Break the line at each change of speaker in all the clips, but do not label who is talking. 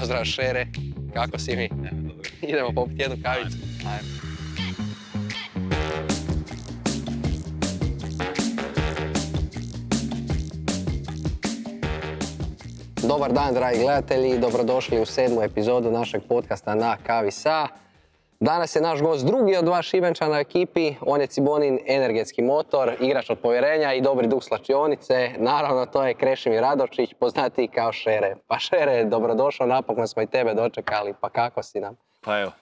Pozdrav Šere, kako si mi? Idemo popiti jednu kavicu. Ajmo. Dobar dan, dragi gledatelji, dobrodošli u 7. epizodu našeg podcasta Na kavi sa. Danas je naš gost drugi od dva Šibenčana u ekipi, on je Cibonin energetski motor, igrač od povjerenja i dobri duh slačionice. Naravno, to je Krešimir Radovčić, poznatiji kao Šere. Pa Šere, dobrodošao, napokon smo i tebe dočekali, pa kako si nam?
Pa evo,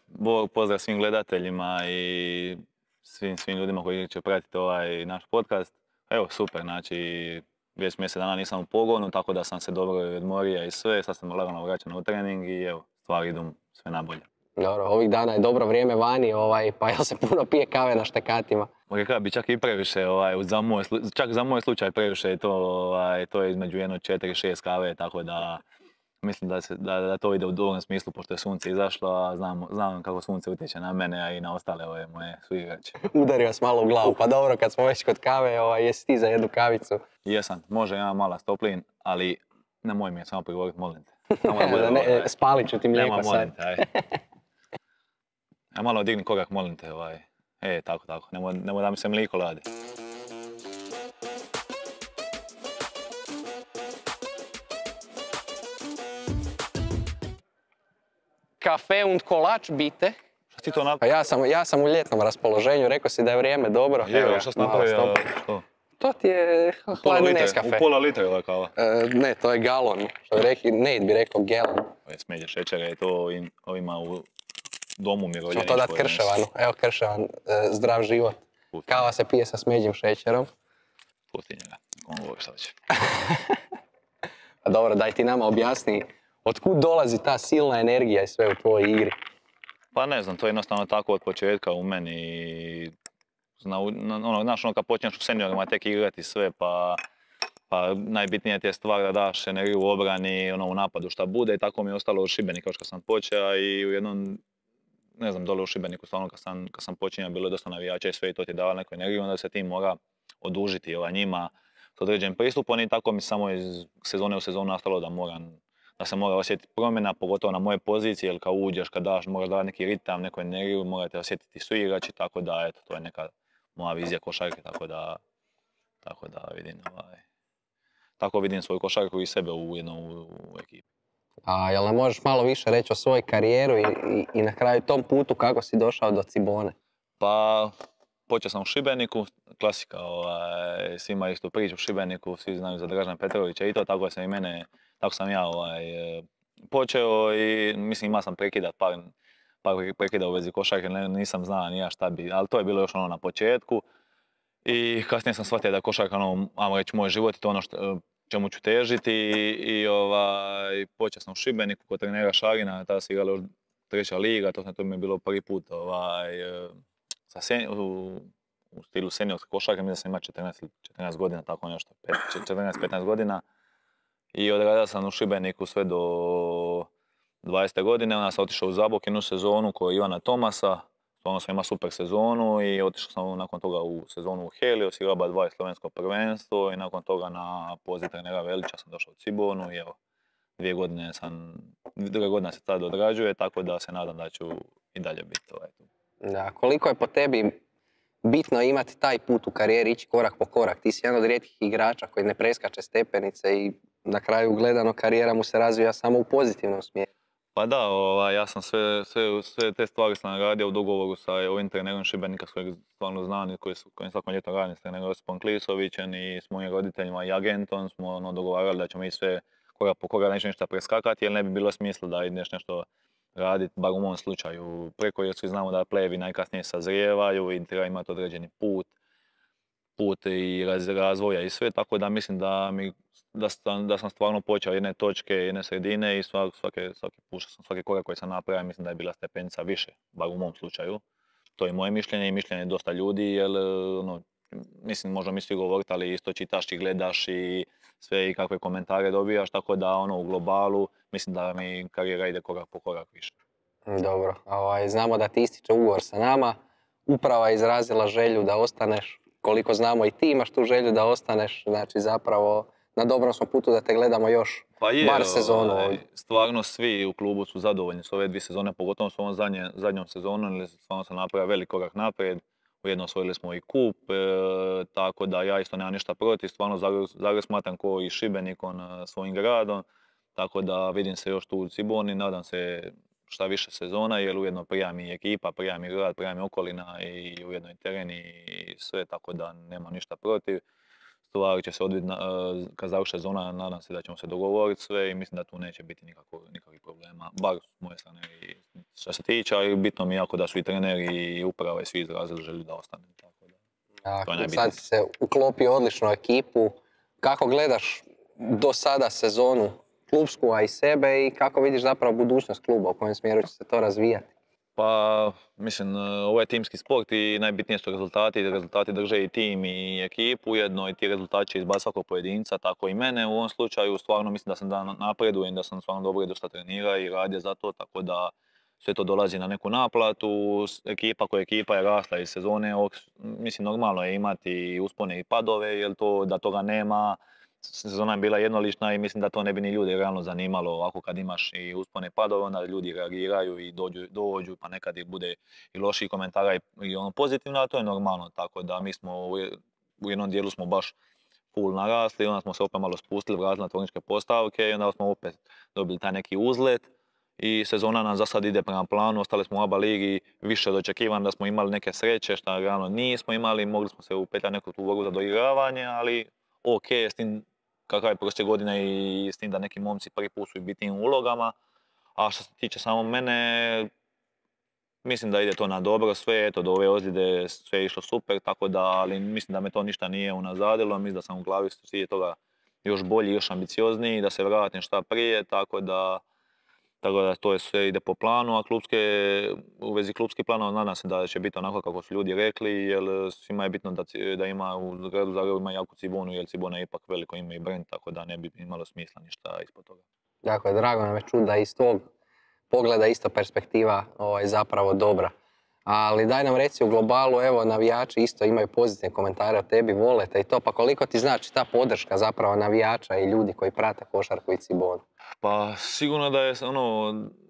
pozdrav svim gledateljima i svim ljudima koji će pratiti ovaj naš podcast. Evo, super, znači, već mjesec dana nisam u pogonu, tako da sam se dobro odmorio i sve, sad sam lagano vraćan u trening i evo, stvari idu sve nabolje.
Dobro, ovih dana je dobro vrijeme vani, pa jel se puno pije kave na štekatima?
Rekao bi čak i previše, čak za moj slučaj previše je to je između 4-6 kave, tako da mislim da to ide u dobrom smislu pošto je sunce izašlo, a znam kako sunce utječe na mene, a i na ostale ove moje suigrače.
Udario vas malo u glavu, pa dobro, kad smo već kod kave, jesi ti za jednu kavicu?
Jesam, može, imam mala stoplin, ali nemoj mi je samo prigovoriti, molim te.
Spalit ću ti mlijeko sad.
Ja malo digni korak, molim te, tako, nemoj da mi se mlijeko ladi.
Kafe und kolač, bite.
Šta ti to
Pa ja sam u ljetnom raspoloženju, rekao si da je vrijeme dobro.
Evo, šta si napravio?
To ti je hladni Nescafe.
U pola litra je ova kava?
Ne, to je galon. Nate bi rekao galon.
Smeđe šećera je to ovima u domu mirovljeničkoj.
Ćemo to dati Krševanu. Evo Krševan, zdrav život. Kava se pije sa smeđim šećerom.
Pusti njega, on govori šta će.
Pa dobro, daj ti nama objasni otkud dolazi ta silna energija i sve u tvojoj igri.
Pa ne znam, to je jednostavno tako od početka u meni. Znaš, kad počneš u seniorima tek igrati sve, pa najbitnije ti je stvar da daš energiju u obrani, u napadu šta bude, i tako mi je ostalo u Šibeniku još kad sam počeo i u jednom, ne znam, dole u Šibeniku, stvarno kad sam počinjao, bilo je dosta navijača i sve i to ti dava neku energiju, onda se ti mora odužiti njima s određenim pristupom i tako mi samo iz sezone u sezonu nastalo da se mora osjetiti promjena, pogotovo na moje pozicije, jer kad uđeš, kad daš, moraš davati neki ritam, neku energiju, morate osjetiti suigrači, tako da, eto, to je neka moja vizija košarke, tako da vidim, tako vidim svoju košarku i sebe u ekipi.
A jel nam možeš malo više reći o svojoj karijeru i na kraju tom putu kako si došao do Cibone?
Pa, počeo sam u Šibeniku, klasika, svima istu priču u Šibeniku, svi znaju za Dražana Petrovića i to, tako sam ja počeo i mislim imao sam prekidat par prekida u vezi košarke, nisam znao ni ja šta bi, ali to je bilo još na početku. I kasnije sam shvatio da je košarka ajmo reći, moj život i to ono čemu ću težiti i počeo sam u Šibeniku kod trenera Šarina, tada se igrala još 3. liga, to mi je bilo prvi put u stilu seniorske košarke, mislim da sam imao 14 godina, tako nešto, 14-15 godina. I odradio sam u Šibeniku sve do 20. godine, onda sam otišao u Zabok jednu sezonu kod Ivana Tomasa, stvarno sam imao super sezonu i otišao sam nakon toga u sezonu u Helios, igrao 2 slovensko prvenstvo i nakon toga na poziv trenera Velića sam došao u Cibonu i evo, 2 godine se tada odrađuje, tako da se nadam da ću i dalje biti tu.
Da, koliko je po tebi bitno imati taj put u karijeri, ići korak po korak? Ti si jedan od rijetkih igrača koji ne preskače stepenice i na kraju gledano karijera mu se razvija samo u pozitivnom smjeru.
Pa da, ja sam sve te stvari sam radio u dogovoru sa ovim trenerom Šibenika s kojeg stvarno znam i kojim svakom ljetom radim s trenerom Josipom Klisovićem i s mojim roditeljima i agentom smo dogovarali da ćemo i sve korak po korak neću ništa preskakati jer ne bi bilo smisla da ideš nešto raditi, bar u mom slučaju preko jer svi znamo da playevi najkasnije sazrijevaju i treba imati određeni put i razvoja i sve, tako da mislim da sam stvarno počeo jedne točke, jedne sredine i svaki korak koji sam napravio, mislim da je bila stepenica više, bar u mom slučaju. To je moje mišljenje i mišljenje dosta ljudi, jer mislim, možda mi svi govoriti, ali isto čitaš i gledaš i sve i kakve komentare dobijaš, tako da u globalu mislim da mi karijera ide korak po korak više.
Dobro, znamo da ti ističe ugovor sa nama, uprava je izrazila želju da ostaneš, koliko znamo i ti imaš tu želju da ostaneš, znači zapravo na dobrom smo putu da te gledamo još
Pa je,
bar sezonu ovdje.
stvarno svi u klubu su zadovoljni s ove 2 sezone, pogotovo s ovom zadnjom sezonom, jer stvarno se napravio velik korak naprijed. Ujedno osvojili smo i kup, tako da ja isto nemam ništa protiv. Stvarno Zagreb smatram ko i Šibenik svojim gradom, tako da vidim se još tu u Ciboni, nadam se šta više sezona, jer ujedno prija mi ekipa, prija mi grad, prija mi okolina i ujedno i teren i sve, tako da nemam ništa protiv. Stvari će se odviti kad završi sezona, nadam se da ćemo se dogovoriti sve i mislim da tu neće biti nikakvih problema, bar s moje strane i što se tiče, ali bitno mi je jako da su i treneri i uprava i svi izrazili želju da ostane. Tako da,
Dakle, sad si se uklopio odlično u ekipu. Kako gledaš do sada sezonu klubsku, a i sebe i kako vidiš zapravo budućnost kluba, u kojem smjeru će se to razvijati?
Pa, mislim, ovo je timski sport i najbitnije su rezultati. Rezultati drže i tim i ekipu, ujedno i ti rezultati će izbaciti svakog pojedinca, tako i mene. U ovom slučaju stvarno mislim da sam napredujem, da sam stvarno dobro i dosta trenirao i radio za to, tako da sve to dolazi na neku naplatu. Ekipa je rasla iz sezone, mislim normalno je imati uspone i padove, jer da toga nema. Sezona je bila jednolična i mislim da to ne bi ni ljudi realno zanimalo. Ovako kad imaš i uspone i padove, onda ljudi reagiraju i dođu pa nekad i bude i loših komentara i ono pozitivno, ali to je normalno. Tako da mi smo u jednom dijelu smo baš full narasli, onda smo se opet malo spustili, vratili na tvorničke postavke i onda smo opet dobili taj neki uzlet. I sezona nam za sad ide prema planu, ostali smo u ABA ligi više od očekivanja da smo imali neke sreće, što realno nismo imali, mogli smo se upetljati neku tu borbu za doigravanje, ali ok, s tim kakav je prošle godine i s tim da neki momci prvi put su i bitnim ulogama. A što se tiče samo mene, mislim da ide to na dobro sve, eto do ove ozljede sve je išlo super, tako da, ali mislim da me to ništa nije unazadilo, mislim da sam u glavi svi toga još bolji, još ambiciozniji, da se vratim šta prije, tako da to je sve ide po planu, a u vezi klubskih planova nadam se da će biti onako kako su ljudi rekli, jer svima je bitno da ima u gradu Zagrebu ima jaku Cibonu, jer Cibona je ipak veliko ime i brand, tako da ne bi imalo smisla ništa ispod toga.
Dakle, drago nam je čuti da iz tog pogleda isto perspektiva zapravo dobra. Ali daj nam reci u globalu, evo navijači isto imaju pozitivne komentare o tebi, vole te i to, pa koliko ti znači ta podrška zapravo navijača i ljudi koji prate košarku i Cibonu?
Pa sigurno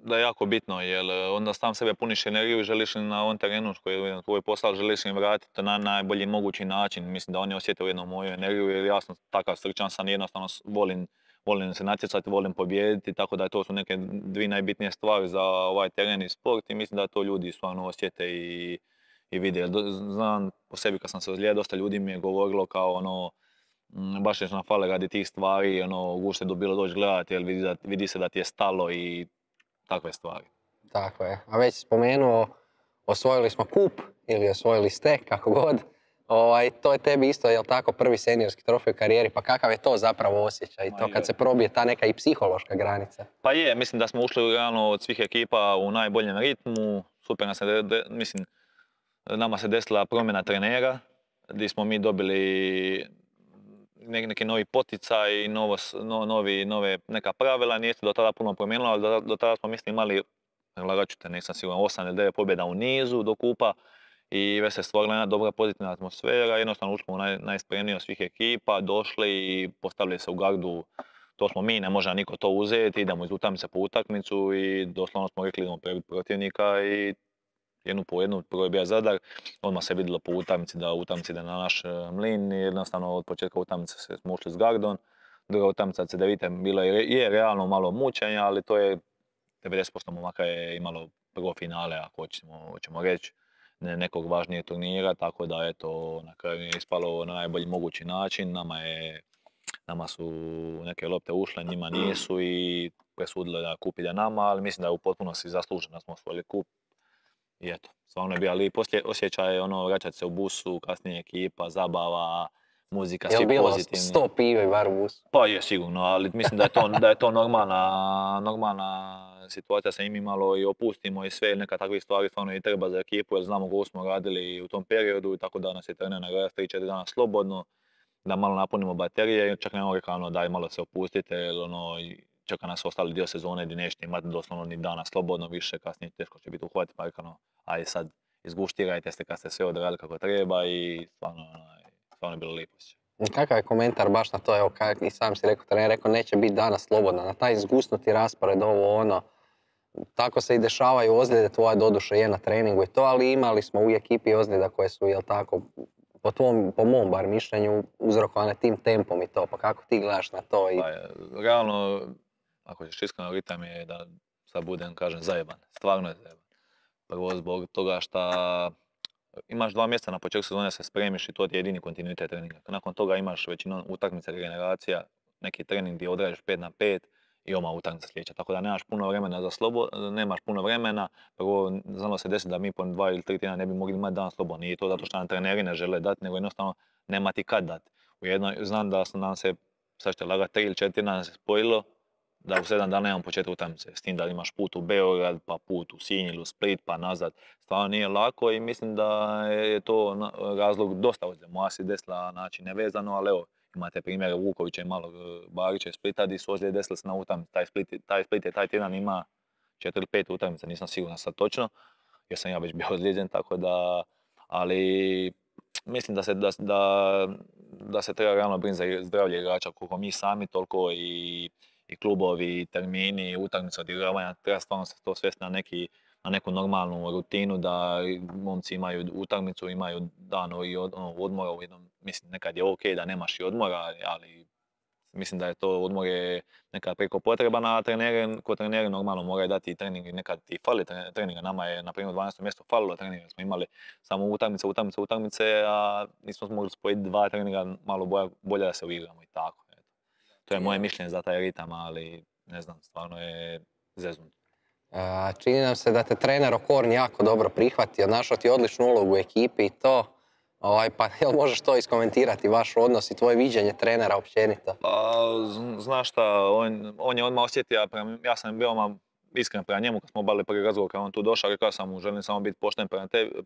da je jako bitno, jer onda sam sebe puniš energiju i želiš na ovom terenu koji je tvoj posao, želiš im vratiti na najbolji mogući način. Mislim da oni osjete ujedno moju energiju, jer ja sam takav srčan sam, jednostavno volim se natjecati, volim pobijediti, tako da to su neke dvije najbitnije stvari za ovaj teren i sport i mislim da to ljudi stvarno osjete i vide. Znam po sebi kad sam se ozlijedio, dosta ljudi mi je govorilo kao baš je nam fale radi tih stvari, gušte bilo doći gledati, jer vidi se da ti je stalo i takve stvari.
Tako je. A već spomenuo, osvojili smo kup ili osvojili ste, kako god. To je tebi isto, jel tako, prvi seniorski trofej u karijeri, pa kakav je to zapravo osjećaj? To kad se probije ta neka i psihološka granica?
Pa je, mislim da smo ušli realno od svih ekipa u najboljem ritmu. Super mislim, nama se desila promjena trenera, gdje smo mi dobili neki novi poticaj, neka pravila, nije se do tada puno promijenilo, ali do tada smo imali, nisam siguran, 8 ili 9 pobjeda u nizu do kupa i već se stvorila jedna dobra pozitivna atmosfera, jednostavno ušli u najspremniji od svih ekipa, došli i postavili se u gardu, to smo mi, ne može niko to uzeti, idemo iz utakmice po utakmicu i doslovno smo rekli idemo prebiti protivnika i jednu po jednu, prvo je bio Zadar, odmah se vidjelo po utakmici da utakmica ide na naš mlin i jednostavno od početka utakmice smo ušli s gardom. Druga utakmica CDVita bila je realno malo mučenja, ali to je 90% momaka je imalo prvo finale, ako hoćemo reći, nekog važnijeg turnira, tako da eto, na kraju je ispalo na najbolji mogući način. Nama su neke lopte ušle, njima nisu i presudili da kup ide nama, ali mislim da je u potpunosti zasluženo da smo osvojili kup. I eto, stvarno je bio, ali poslije osjećaj vraćati se u busu, kasnije ekipa, zabava, muzika, svi pozitivni.
Je bilo 100 pive bar u busu?
Pa je sigurno, ali mislim da je to normalna situacija, se im malo i opustimo i sve, neka takvih stvari stvarno i treba za ekipu, jer znamo kako smo radili u tom periodu, tako da nas je trener nagraditi 3-4 dana slobodno, da malo napunimo baterije, čak nemamo rekao daj malo se opustite, jer čeka nas ostali dio sezone gdje nećete imati doslovno ni dana slobodno više, kasnije teško će biti uhvatiti, pa rekao ajde sad izguštirajte se kad ste sve odradili kako treba i stvarno je bilo lijepo.
Kakav je komentar baš na to, evo, i sam si rekao, trener rekao, neće biti danas slobodna, na taj zgusnuti raspored, ovo ono, tako se i dešavaju ozljede, tvoja doduše je na treningu i to, ali imali smo u ekipi ozljeda koje su, jel tako, po mom bar mišljenju, uzrokovane tim tempom i to, pa kako ti gledaš na to?
Pa, realno, ako ćeš iskreno, ritam je da sad budem, kažem, zajeban, stvarno je zajeban. Prvo zbog toga što imaš 2 mjeseca na početku sezone se spremiš i to ti je jedini kontinuitet treninga. Nakon toga imaš većinom utakmica regeneracija, neki trening gdje odradiš 5x5 i oma utakmica sljedeća. Tako da nemaš puno vremena nemaš puno vremena. Prvo, znalo se desiti da mi po 2 ili 3 tjedna ne bi mogli imati dan slobodno. Nije to zato što nam treneri ne žele dati, nego jednostavno nema ti kad dati. Znam da nam se, sad ćete lagati, 3 ili 4 tjedna nam se spojilo da u 7 dana imamo početak utakmice. S tim da imaš put u Beograd, pa put u Sinj ili u Split, pa nazad. Stvarno nije lako i mislim da je to razlog dosta ozljeda. Moja se desila način nevezano, ali evo, imate primjere Vukovića i malog Barića iz Splita gdje su ozljede desile se na utakmici. Taj Split je taj tjedan ima 4 ili 5 utakmica, nisam siguran sad točno, jer sam ja već bio ozlijeđen, tako da, ali mislim da se treba realno brinuti za zdravlje igrača, koliko mi sami, toliko i klubovi, termini, utakmice, odigravanja, treba stvarno se to svesti na neku normalnu rutinu, da momci imaju utakmicu, imaju dan i odmora u jednom, mislim nekad je ok da nemaš i odmora, ali mislim da je to odmor je nekad preko potreban, a kod treneri normalno moraju dati i trening i nekad ti fali treninga. Nama je na primjer u 12. mjestu falilo treninga, smo imali samo utakmice, a nismo mogli spojiti 2 treninga malo bolje da se uigramo i tako. To je moje mišljenje za taj ritam, ali ne znam, stvarno je zeznuto.
Čini nam se da te trener Okorn jako dobro prihvatio, našao ti odličnu ulogu u ekipi i to. Pa jel možeš to iskomentirati, vaš odnos i tvoje viđenje trenera općenito?
Pa, znaš šta, on je odmah osjetio, ja sam bio iskren prema njemu kad smo obavili prvi razgovor, kad on tu došao, rekao sam mu želim samo biti pošten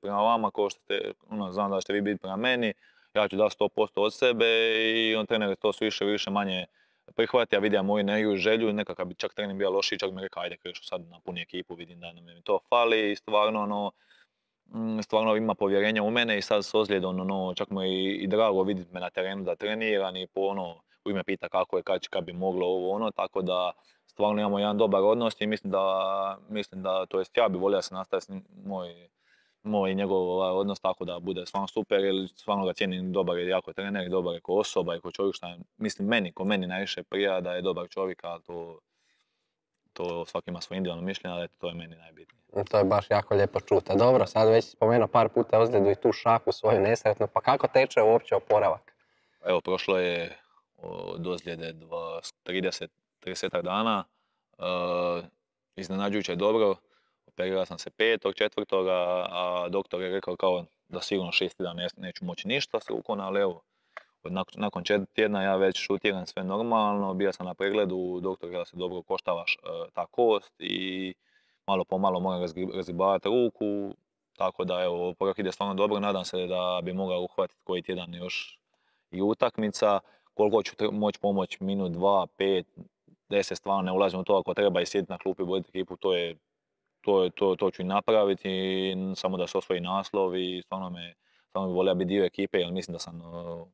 prema vama, kao što ste, znam da ćete vi biti prema meni, ja ću dati 100% od sebe i on trener to su više manje prihvati, ja vidio moju energiju i želju, nekakav bi čak trening bio lošiji, čak mi rekao ajde kreću sad na puni ekipu, vidim da nam to fali i stvarno ima povjerenja u mene i sad s ozljedom, čak mu je i drago vidjeti me na terenu da treniram i u ime pita kako je, kad bi moglo ovo, tako da stvarno imamo jedan dobar odnos i mislim da to jest ja bi volio da se nastavi moj i njegov odnos tako da bude stvarno super, jer stvarno ga cijenim, dobar je jako trener, dobar je ko osoba i ko čovjek, što mislim ko meni najviše prija da je dobar čovjek, ali to svaki ima svoje individualno mišljenje, ali to je meni najbitnije.
To je baš jako lijepo čuti. Dobro, sad već spomenuo par puta ozljedu i tu šaku svoju nesretnu, pa kako teče uopće oporavak?
Evo, prošlo je od ozljede 30 dana, iznenađujuće dobro. Operirao sam se 5.4. a doktor je rekao kao da sigurno 6 tjedana neću moći ništa s rukom, ali evo, nakon 4 tjedna ja već šutiram sve normalno, bio sam na pregledu, doktor rekao da se dobro koštavaš ta kost i malo po malo moram razgibavati ruku, tako da evo, oporavak ide stvarno dobro, nadam se da bi mogao uhvatiti koji tjedan još i utakmica, koliko ću moći pomoći, minut, 2, 5, 10, stvarno ne ulazim u to, ako treba i sjediti na klupi i voditi ekipu, to ću i napraviti, samo da se osvoji naslov i stvarno bi volio biti dio ekipe, jer mislim da sam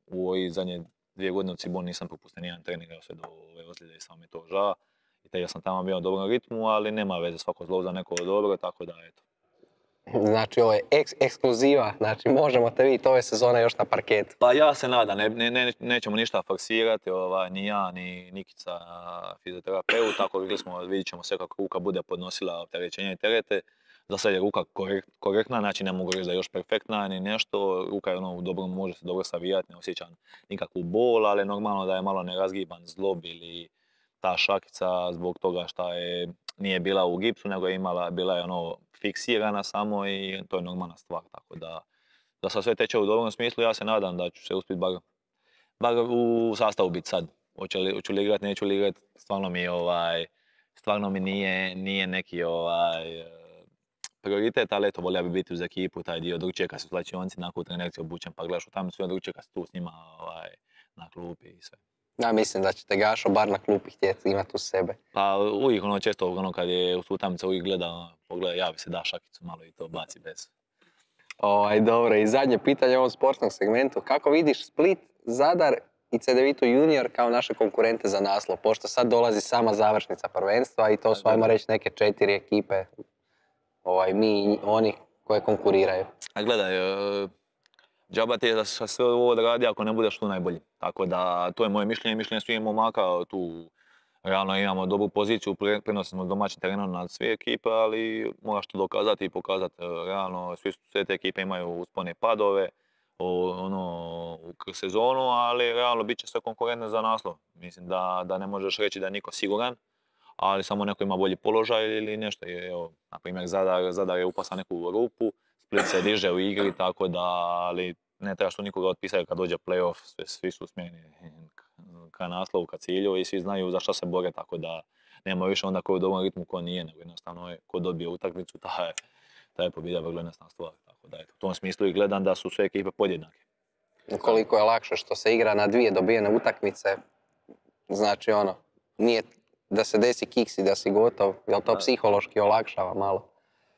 u ovoj zadnje 2 godine u Ciboni nisam propustio nijedan trening, sve do ove ozljede i samo mi to žao. I taj ja sam tamo bio u dobrom ritmu, ali nema veze, svako zlo za neko dobro, tako da eto.
Znači ovo je ekskluziva, znači možemo te vidjeti ove sezone još na parketu.
Pa ja se nadam, nećemo ništa forsirati, ni ja, ni Nikica, fizioterapeut, tako vidjet ćemo sve kako ruka bude podnosila opterećenje i terete. Za sad je ruka korektna, znači ne mogu reći da je još perfektna ni nešto, ruka je može se dobro savijati, ne osjećam nikakvu bol, ali normalno da je malo nerazgiban zlob ili ta šakica zbog toga što nije bila u gipsu, nego bila je fiksirana samo i to je normalna stvar, tako da sad sve teče u dobrom smislu, ja se nadam da ću se uspjeti bar u sastavu biti sad. Hoću li igrat, neću li igrat, stvarno mi nije neki prioritet, ali eto, volio bi biti uz ekipu, taj dio drugčije kad su slačionci, nakon trenerci obučen pa gledaš u tamicu, drugčije kad si tu s njima na klupi i sve.
Ja mislim da će te Gašo bar na klupi htjeti imati uz sebe.
Pa uvijek često kad je u utamice uvijek pogleda, javi se, da šakicu malo i to baci bez.
Dobro, i zadnje pitanje u ovom sportskom segmentu. Kako vidiš Split, Zadar i CDVitu junior kao naše konkurente za naslov, pošto sad dolazi sama završnica prvenstva i to su, ajmo reći, neke 4 ekipe, mi i oni koje konkuriraju.
A gledaj, džaba ti je da se sve ovo odradi ako ne budeš tu najbolji. Tako da, to je moje mišljenje svih momaka tu. Realno imamo dobru poziciju, prenosimo domaćim terenom nad sve ekipe, ali moraš to dokazati i pokazati. Realno, sve te ekipe imaju uspone i padove kroz sezonu, ali realno bit će sve konkurentne za naslov. Mislim da ne možeš reći da je niko siguran, ali samo neko ima bolji položaj ili nešto. Evo, na primjer, Zadar je upao sa neku rupu, Split se diže u igri, tako da, ali ne trebaš tu nikoga otpisati kad dođe play-off, svi su usmjereni ka naslovu, ka cilju i svi znaju za šta se bore, tako da nema više onda ko je u dobrom ritmu, ko nije, nego jednostavno je ko dobije utakmicu, ta je pobjeda vrlo jednostavna stvar. Tako da, u tom smislu i gledam da su sve ekipe podjednake.
Koliko je lakše što se igra na 2 dobijene utakmice, znači nije da se desi kiks i da si gotov, jel to psihološki olakšava malo?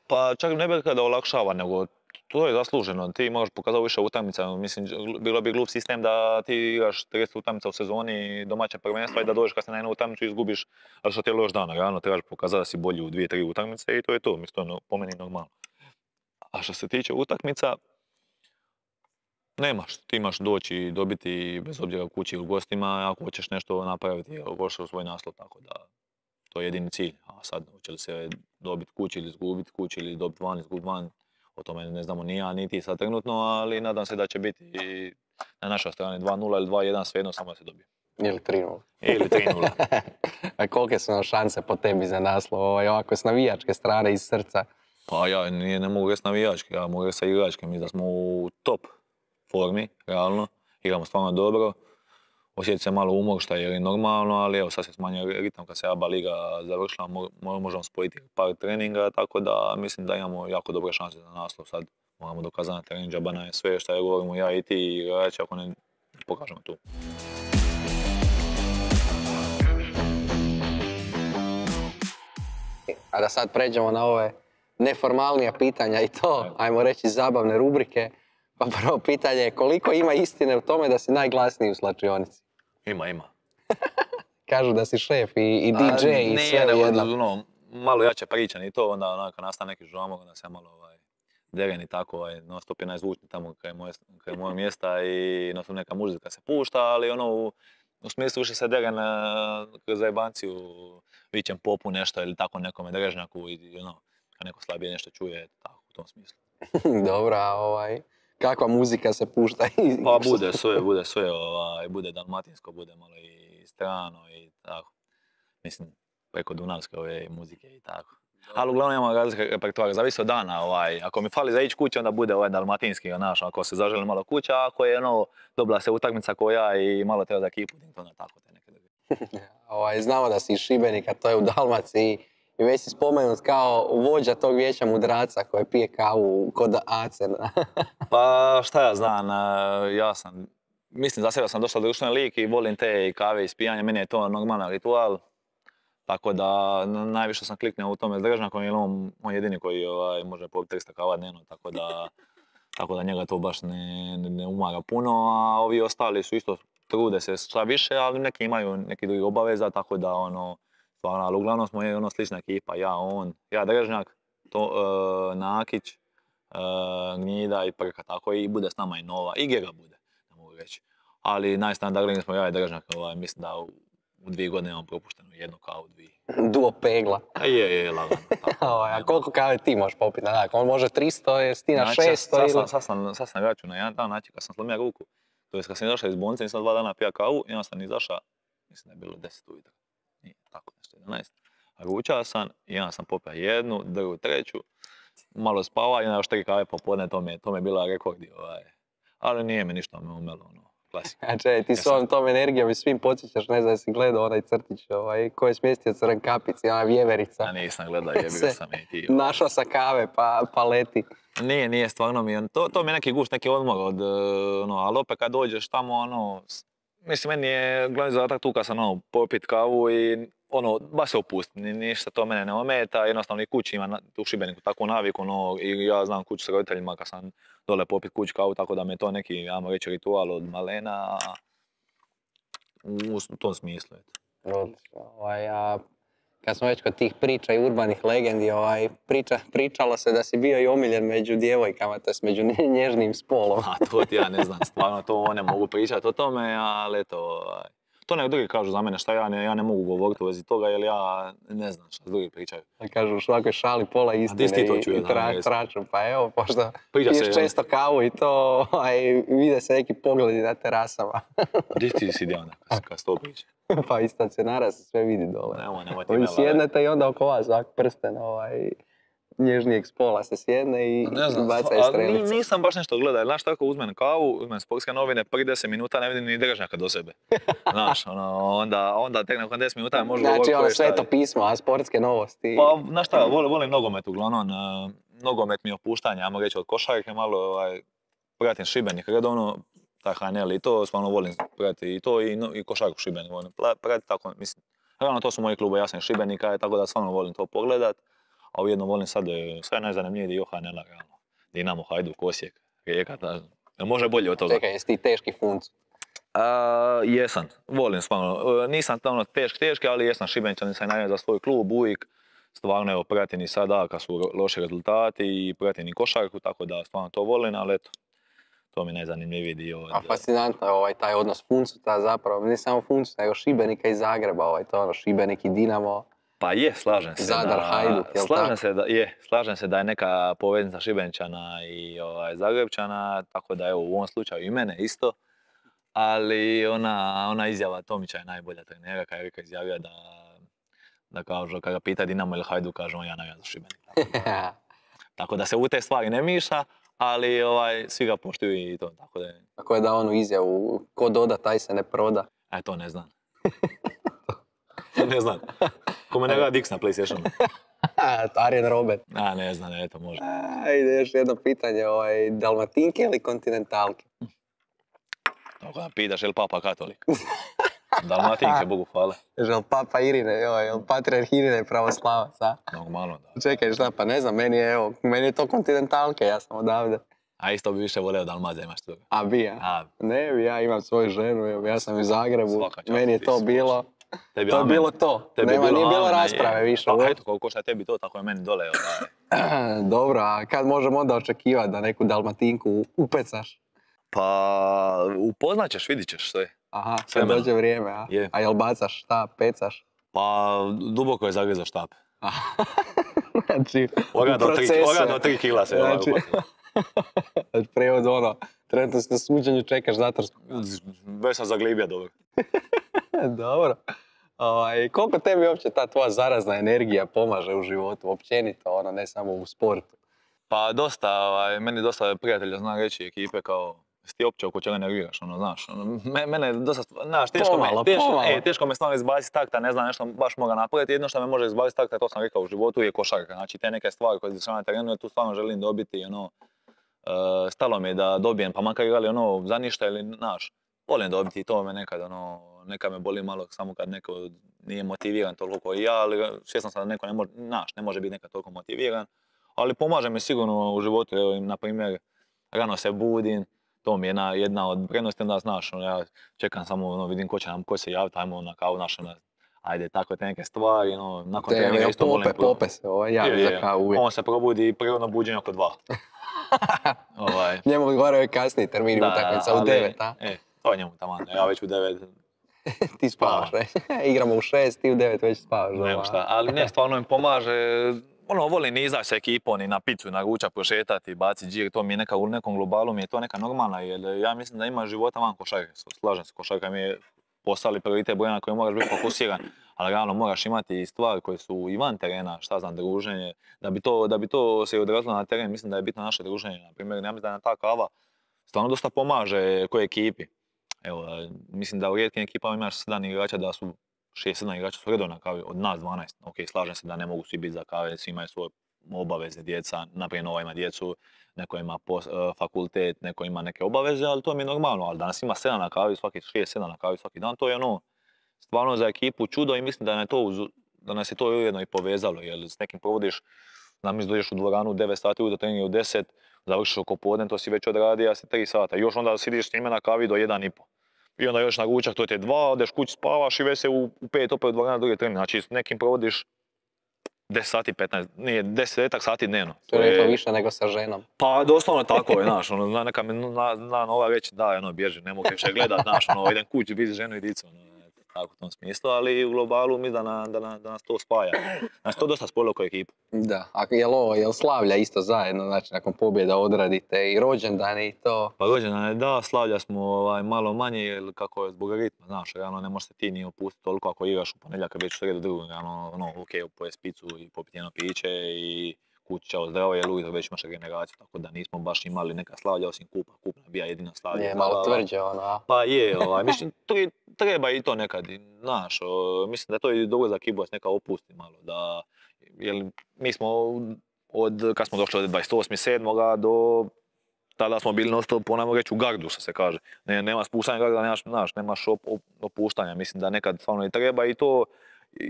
Pa čak ne bih rekao da olakšava, nego to je zasluženo. Ti možeš pokazati više utakmica. Mislim, bilo bi glup sistem da ti igraš 30 utakmica u sezoni domaće prvenstva i da dođeš kad se na jednu utakmicu i izgubiš, ali što ti je loš dan. Realno trebaš pokazati da si bolji u 2-3 utakmice i to je to. Mislim, to je po meni normalno. A što se tiče utakmica, nemaš. Ti imaš doći i dobiti bez obzira u kući ili u gostima ako hoćeš nešto napraviti, hoćeš u svoj naslov, tako da to je jedini cilj. A sad, hoće li se dobiti kući ili izgubiti kući ili dobiti van, izgubiti van, o tome ne znamo ni ja, ni ti sad trenutno, ali nadam se da će biti i na našoj strani 2-0 ili 2-1, svejedno, samo da se dobije.
Ili 3-0.
Ili 3-0.
A kolike su nam šanse po tebi za naslov, ovako s navijačke strane, iz srca?
Pa ja ne mogu reći navijačke, ja mogu reći sa igračke. Mi da smo u top formi, realno, igramo stvarno dobro. Osjeti se malo umor, što je normalno, ali evo sad se smanjuje ritam kad se ABA liga završila, možemo spojiti par treninga, tako da mislim da imamo jako dobre šanse za naslov. Sad moramo dokazati na terenu, džaba je sve što je govorimo ja i ti i igrači ako ne pokažemo tu.
A da sad pređemo na ove neformalnija pitanja i to, ajmo reći, zabavne rubrike. Pa prvo pitanje je koliko ima istine u tome da si najglasniji u slačionici?
Ima.
Kažu da si šef i DJ i sve jedno.
Malo jače pričam i to, onda kad nastane neki žamor, onda se malo deren i tako, non stop je najzvučniji tamo kraj moje mjesta i neka muzika se pušta, ali u smislu više se deren kroz zajebanciju, vićem popu nešto ili tako nekome drežnjaku i kad neko slabije nešto čuje, tako u tom smislu.
Dobro, kakva muzika se pušta?
Pa bude sve, bude dalmatinsko, bude malo i strano i tako. Mislim, preko dunavske ove muzike i tako. Ali uglavnom imamo razlike repertoara, zavisi od dana. Ako mi fali za ići kuće, onda bude dalmatinski, ako se zaželi malo kuća, ako je dobila se utakmica koja i malo treba za ekipu, onda tako te neke druge.
Znamo da si iz Šibenika, to je u Dalmaciji. I već si spomenut kao vođa tog vijeća mudraca koji pije kavu kod Acen.
Pa šta ja znam, mislim za sebe sam dosta društveni lik i volim te kave i spijanje, meni je to normalan ritual. Tako da najviše sam kliknuo u tome s Drežnjakom jer on jedini koji može popiti 300 kava dnevno, tako da njega to baš ne umaga puno, a ovi ostali su isto trude se šta više, ali neki imaju neki drugi obaveza, tako da stvarno, ali uglavnom smo slična ekipa, ja Drežnjak, Nakić, Gnjida i Prka, tako i bude s nama i Nova, i Gega bude, ne mogu reći. Ali najstandardniji smo ja i Drežnjak, mislim da u 2 godine imam propušteno 1 kavu, 2.
Duo pegla.
Je, lagano.
A koliko kave ti možeš popiti? On može 300, jesi ti na 600
Sad sam vraćao na jedan dan, znači kad sam slomio ruku, to je kad sam izašao iz bolnice, nisam 2 dana pija kavu i onda sam izašao, mislim da je bilo 10 ujutro. Nije, tako nešto, 11. Ručao sam i onda sam popio 1, drugu, 3, malo spava i onda još 3 kave popodne, to mi je bila rekordi. Ali nije mi ništa umelo, klasika.
A ti s ovom tom energijom i svim podsjećaš, ne znam da si gledao onaj crtić ko je smjestio Crnkapici, ona vjeverica.
A nisam gledao, jebio sam i ti.
Našao sa kave pa leti.
Nije, stvarno mi je, to mi je neki gušt, neki odmor ali opet kad dođeš tamo, mislim, meni je glavni zadatak tu kad sam popit kavu i baš se opustim, ništa to mene ne ometa, jednostavno i kući ima u Šibeniku takvu naviku, i ja znam kuću s roditeljima kad sam dole popit kuću kavu, tako da mi je to neki, ajmo reći, ritual od malena, u tom smislu. Eto.
Odlično. A kad smo već kod tih priča i urbanih legendi, pričalo se da si bio i omiljen među djevojkama, to jest među nježnim spolom.
A to ti ja ne znam, stvarno to ne mogu pričati o tome, ali eto, to nek drugi kažu za mene šta ja ne mogu govoriti u vezi toga, jer ja ne znam šta drugi pričaju.
Kažu u svakoj šali pola istine i traču, pa evo, pošto piješ često kavu i to, vide se neki pogledi na terasama.
Gdje ti si Dijana, kad se to priča?
Pa iz stacionara se sve vidi dole.
Nemoj ti
Ovi sjednete i onda oko vas ovak prsten nježnijeg spola se sjedne i baca iz strelice.
Nisam baš nešto gledao, znaš tako uzmem kavu, uzmem sportske novine, prvih 10 minuta ne vidim ni držnjaka do sebe. Znaš, onda tek nakon 10 minuta možda govoriti
koje šta je. Znači sveto pismo, a sportske novosti?
Pa, znaš šta, volim nogomet uglavnom, nogomet mi je opuštanje, ajmo reći od košarke malo, pratim Šibenik redovno, taj HNL i to, stvarno volim pratiti i to i košarku Šibenik volim pratiti, tako mislim. Realno to su moji klubovi, ja sam iz Šibenika, tako da stvarno volim to pogledat. A ujedno volim sad, sve najzanimljiviji dio HNL-a, realno. Dinamo, Hajduk, Osijek, Rijeka, može bolje od toga.
Čekaj, jesi ti teški func?
Jesam, volim stvarno. Nisam tamo teški, ali jesam Šibenčanin, sam najavljen za svoj klub uvijek. Stvarno, evo, pratim i sada kad su loši rezultati i pratim i košarku, tako da stvarno to volim, ali eto, to mi je najzanimljiviji dio.
A fascinantno je taj odnos Funcuta zapravo, ne samo Funcuta, nego Šibenika i Zagreba, to Šibenik i Dinamo.
Pa je, slažem se.
Zadar, Hajduk, jel' tako?
Slažem se da je neka poveznica Šibenčana i Zagrebčana, tako da evo u ovom slučaju i mene isto. Ali ona izjava Tomića je najbolja trenera, kad je Rika izjavio da kažu, kada ga pita Dinamo ili Hajduk, kaže on ja navijam za Šibenik. Tako da se u te stvari ne miša, ali svi ga poštuju i to.
Tako je da onu izjavu, ko doda, taj se ne proda.
To ne znam. Ne znam. Ko me ne gleda Dix na PlayStationu.
Arjen Robert.
Ne znam, eto, može.
Ide još jedno pitanje, Dalmatinke ili kontinentalke?
Tako da pitaš, je li papa katolik? Dalmatinke, Bogu hvala.
Je li papa Irine, je li patrijarh Irine pravoslavac, a?
Normalno, da.
Čekaj, šta, pa ne znam, meni je to kontinentalke, ja sam odavde.
A isto bi više voleo Dalmaza, imaš toga.
A bi ja? Ne bi, ja imam svoju ženu, ja sam u Zagrebu, meni je to bilo... To je bilo to. Nije bilo rasprave više.
Pa eto, koliko šta je tebi to, tako je meni dole.
Dobro, a kad možemo onda očekivati da neku Dalmatinku upecaš?
Pa upoznat ćeš, vidit ćeš sve.
Aha, kad dođe vrijeme, a?
Je.
A jel bacaš štap, pecaš?
Pa duboko je zagriza štap.
Znači,
Oga do 3 kila se upatilo.
Znači, prijevod trenutno si na suđenju, čekaš zatvorsku.
Već sam zaglibio dobro.
Dobro. Koliko tebi uopće ta tvoja zarazna energija pomaže u životu, općenito, ne samo u sportu?
Pa dosta, meni dosta prijatelja zna reći ekipe kao, jesi ti uopće oko čega nerviraš, znaš. Mene dosta, znaš, teško me stvarno izbaciti takta, ne znam nešto baš moga napraviti. Jedno što me može izbaciti takta, to sam rekao u životu, je košarka. Znači te neke stvari koje se dešavaju na terenu, ja tu stvarno želim dobiti, stalo mi je da dobijem, pa makar igrali za ništa ili, znaš, volim dobiti i to me nekad, nekad me boli malo samo kad neko nije motiviran toliko kao i ja, ali svjesno sam da neko ne može biti nekad toliko motiviran. Ali pomaže mi sigurno u životu, evo, na primjer, rano se budim, to mi je jedna od prednosti, onda znaš, ja čekam samo, vidim ko se javiti, ajmo na kavu, znaš, ajde, tako te neke stvari, nakon treninga isto volim...
Pope se, javi za kavu uvijek.
On se probudi prirodno buđenje oko 2.
Njemu odgovaraju kasniji termini utakmica u 9, a?
To je njemu taman, ja već u 9.
Ti spavaš, igramo u 6, ti u 9 već spavaš.
Nema šta, ali ne, stvarno im pomaže. Volim izaći sa ekipom i na picu, na ručak, prošetati, baciti džir, to mi je u nekom globalu mi je to neka normalna, jer ja mislim da ima života van košarke. Slažem se, košarka mi je postali prioritet broj na koji moraš biti fokusiran, ali realno moraš imati i stvari koje su i van terena, šta znam, druženje. Da bi to se odrazilo na teren, mislim da je bitno naše druženje. Na primjer, ja mislim da nam ta kava stvarno dosta pomaže kojoj ekipi. Evo, mislim da u rijetkim ekipama imaš 7 igrača, da su 6-7 igrača su redovno na kavi, od nas 12. Ok, slažem se da ne mogu svi biti za kave, svi imaju svoje obaveze, djeca, naprijed Nova ima djecu, neko ima fakultet, neko ima neke obaveze, ali to mi je normalno, ali danas ima 7 na kavi, svaki 6-7 na kavi svaki dan, to je stvarno za ekipu čudo i mislim da nas je to ujedno i povezalo, jer s nekim provodiš, mislim dođeš u dvoranu u 9 sati, do treninga u 10, završiš oko podne, to si već odradio, a si 3 sata, još onda sidiš s njima na kavi do 1,5. I onda još na ručak, to ti je 2, odeš kući spavaš i već se u 5 opet u 2 druge trening. Znači s nekim provodiš 10 sati, 15, nije 10 sati dnevno.
To je to više nego sa ženom.
Pa doslovno tako je, znaš, ono, neka mi zna nova reći da, ono, bježi, ne mogu više gledat, znaš, ono, idem kući, biti ženu i dicu, ono, tako u tom smislu, ali u globalu mi da nas to spaja. Znači, to dosta spojilo kao ekipu.
Da, a jel slavlja isto zajedno, znači nakon pobjeda odradite i rođendane i to?
Pa rođendane, da, slavlja smo malo manje, jer kako je zbog ritma, znaš, realno ne možeš se ti ni opustiti toliko ako igraš u ponedjeljak, već u sredu drugog, realno, ok, pojesti picu i popiti jedno piće i kući čao zdravo, jer ujutro već imaš regeneraciju, tako da nismo baš imali neka slavlja osim kupa. Kup nam bija jedino slavlja.
Je malo tvrđe ono.
Pa je, mislim, treba i to nekad, znaš, mislim da to je dobro za ekipu da se neka opusti malo, da, jer mi smo kad smo došli od 28.7. do tada smo bili non stop, ponajmo reći, u gardu, što se kaže. Nema spuštanja garda, nemaš opuštanja, mislim da nekad stvarno i treba i to,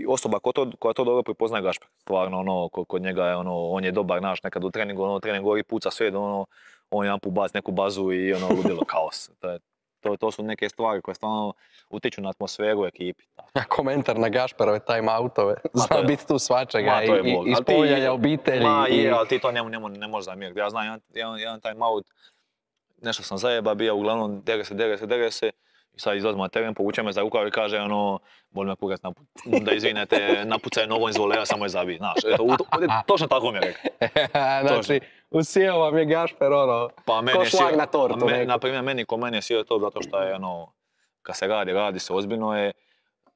osoba koja to dobro prepoznaje Gašper, stvarno, ono, kod njega je, ono, on je dobar, naš, nekad u treningu, trening gori puca sve, ono, on jedan put baci neku bazu i ono, ludilo, kaos. To su neke stvari koje stvarno utiču na atmosferu u ekipi.
Komentar na Gašperove time-outove, zna biti tu svačega i spominjanja obitelji.
Ma je, ali ti to ne možeš zamjeriti. Ja znam jedan time-out, nešto sam zajeba bio, uglavnom dere se. I sad izlazimo na teren, povuče me za rukav i kaže, ono, boli me kurac, da izvinete, napucaj nogom iz voleja, samo je zabij, znaš. Točno tako mi je rekao.
Znači, usijao vam je Gašper, ono, ko šlag na tortu.
Naprimjer, meni je sjeo to zato što je, ono, kad se radi se ozbiljno je,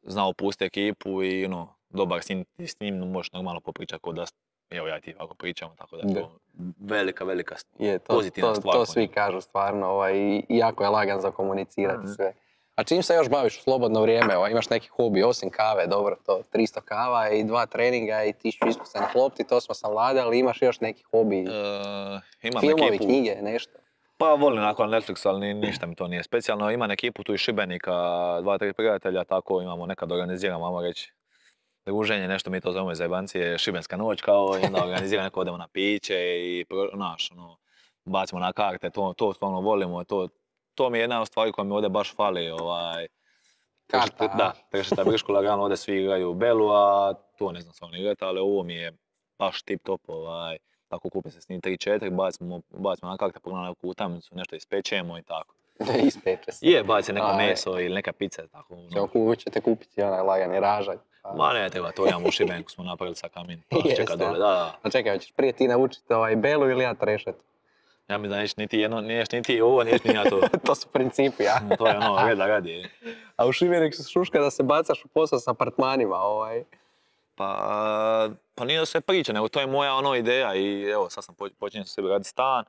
znao pustiti ekipu i, ono, dobar s njim možeš normalno popričati kod da, evo ja i ti ovako pričamo, tako da je to velika pozitivna stvar.
To svi kažu stvarno, i jako je lagan za komunicirati sve. A čim se još baviš u slobodno vrijeme, imaš neki hobi, osim kave, dobro, to 300 kava i 2 treninga i 1000 iskusanih lopti, to smo savladali, ali imaš još neki hobi, filmovi, knjige, nešto?
Pa volim nakon Netflix, ali ništa mi to nije specijalno. Imam ekipu tu iz Šibenika, 2-3 prijatelja, tako imamo nekad organiziramo, ajmo reći, druženje, nešto mi to zovemo iz jebancije, šibenska noć kao, i onda organiziramo neko, odemo na piće i, znaš, ono, bacimo na karte, to stvarno volimo, to mi je jedna od stvari koja mi ovdje baš fali,
Karta,
da, Trešeta Brško lagano, ovdje svi igraju Belu, a to ne znam stvarno igrati, ali ovo mi je baš tip top, tako kupi se s njih 3-4, bacimo na karte, pogledamo neku utakmicu, nešto ispečemo i tako.
Ispeče se.
Je, baci neko meso ili neka pizza, tako.
Ćete kupiti onaj lagani ražanj.
Ma ne treba, to imamo u Šibenku, smo napravili sa kamin, čeka dole, da.
A čekaj, hoćeš prije ti naučiti Belu ili ja Trešetu?
Ja mi da neš niti ovo, neš ni ja to.
To su principi, ja?
To je ono, reda radi.
A u Šibeniku se šuška da se bacaš u posao s apartmanima,
Pa nije da se priča, nego to je moja ideja i evo, sad sam počinjen sa sebi raditi stan.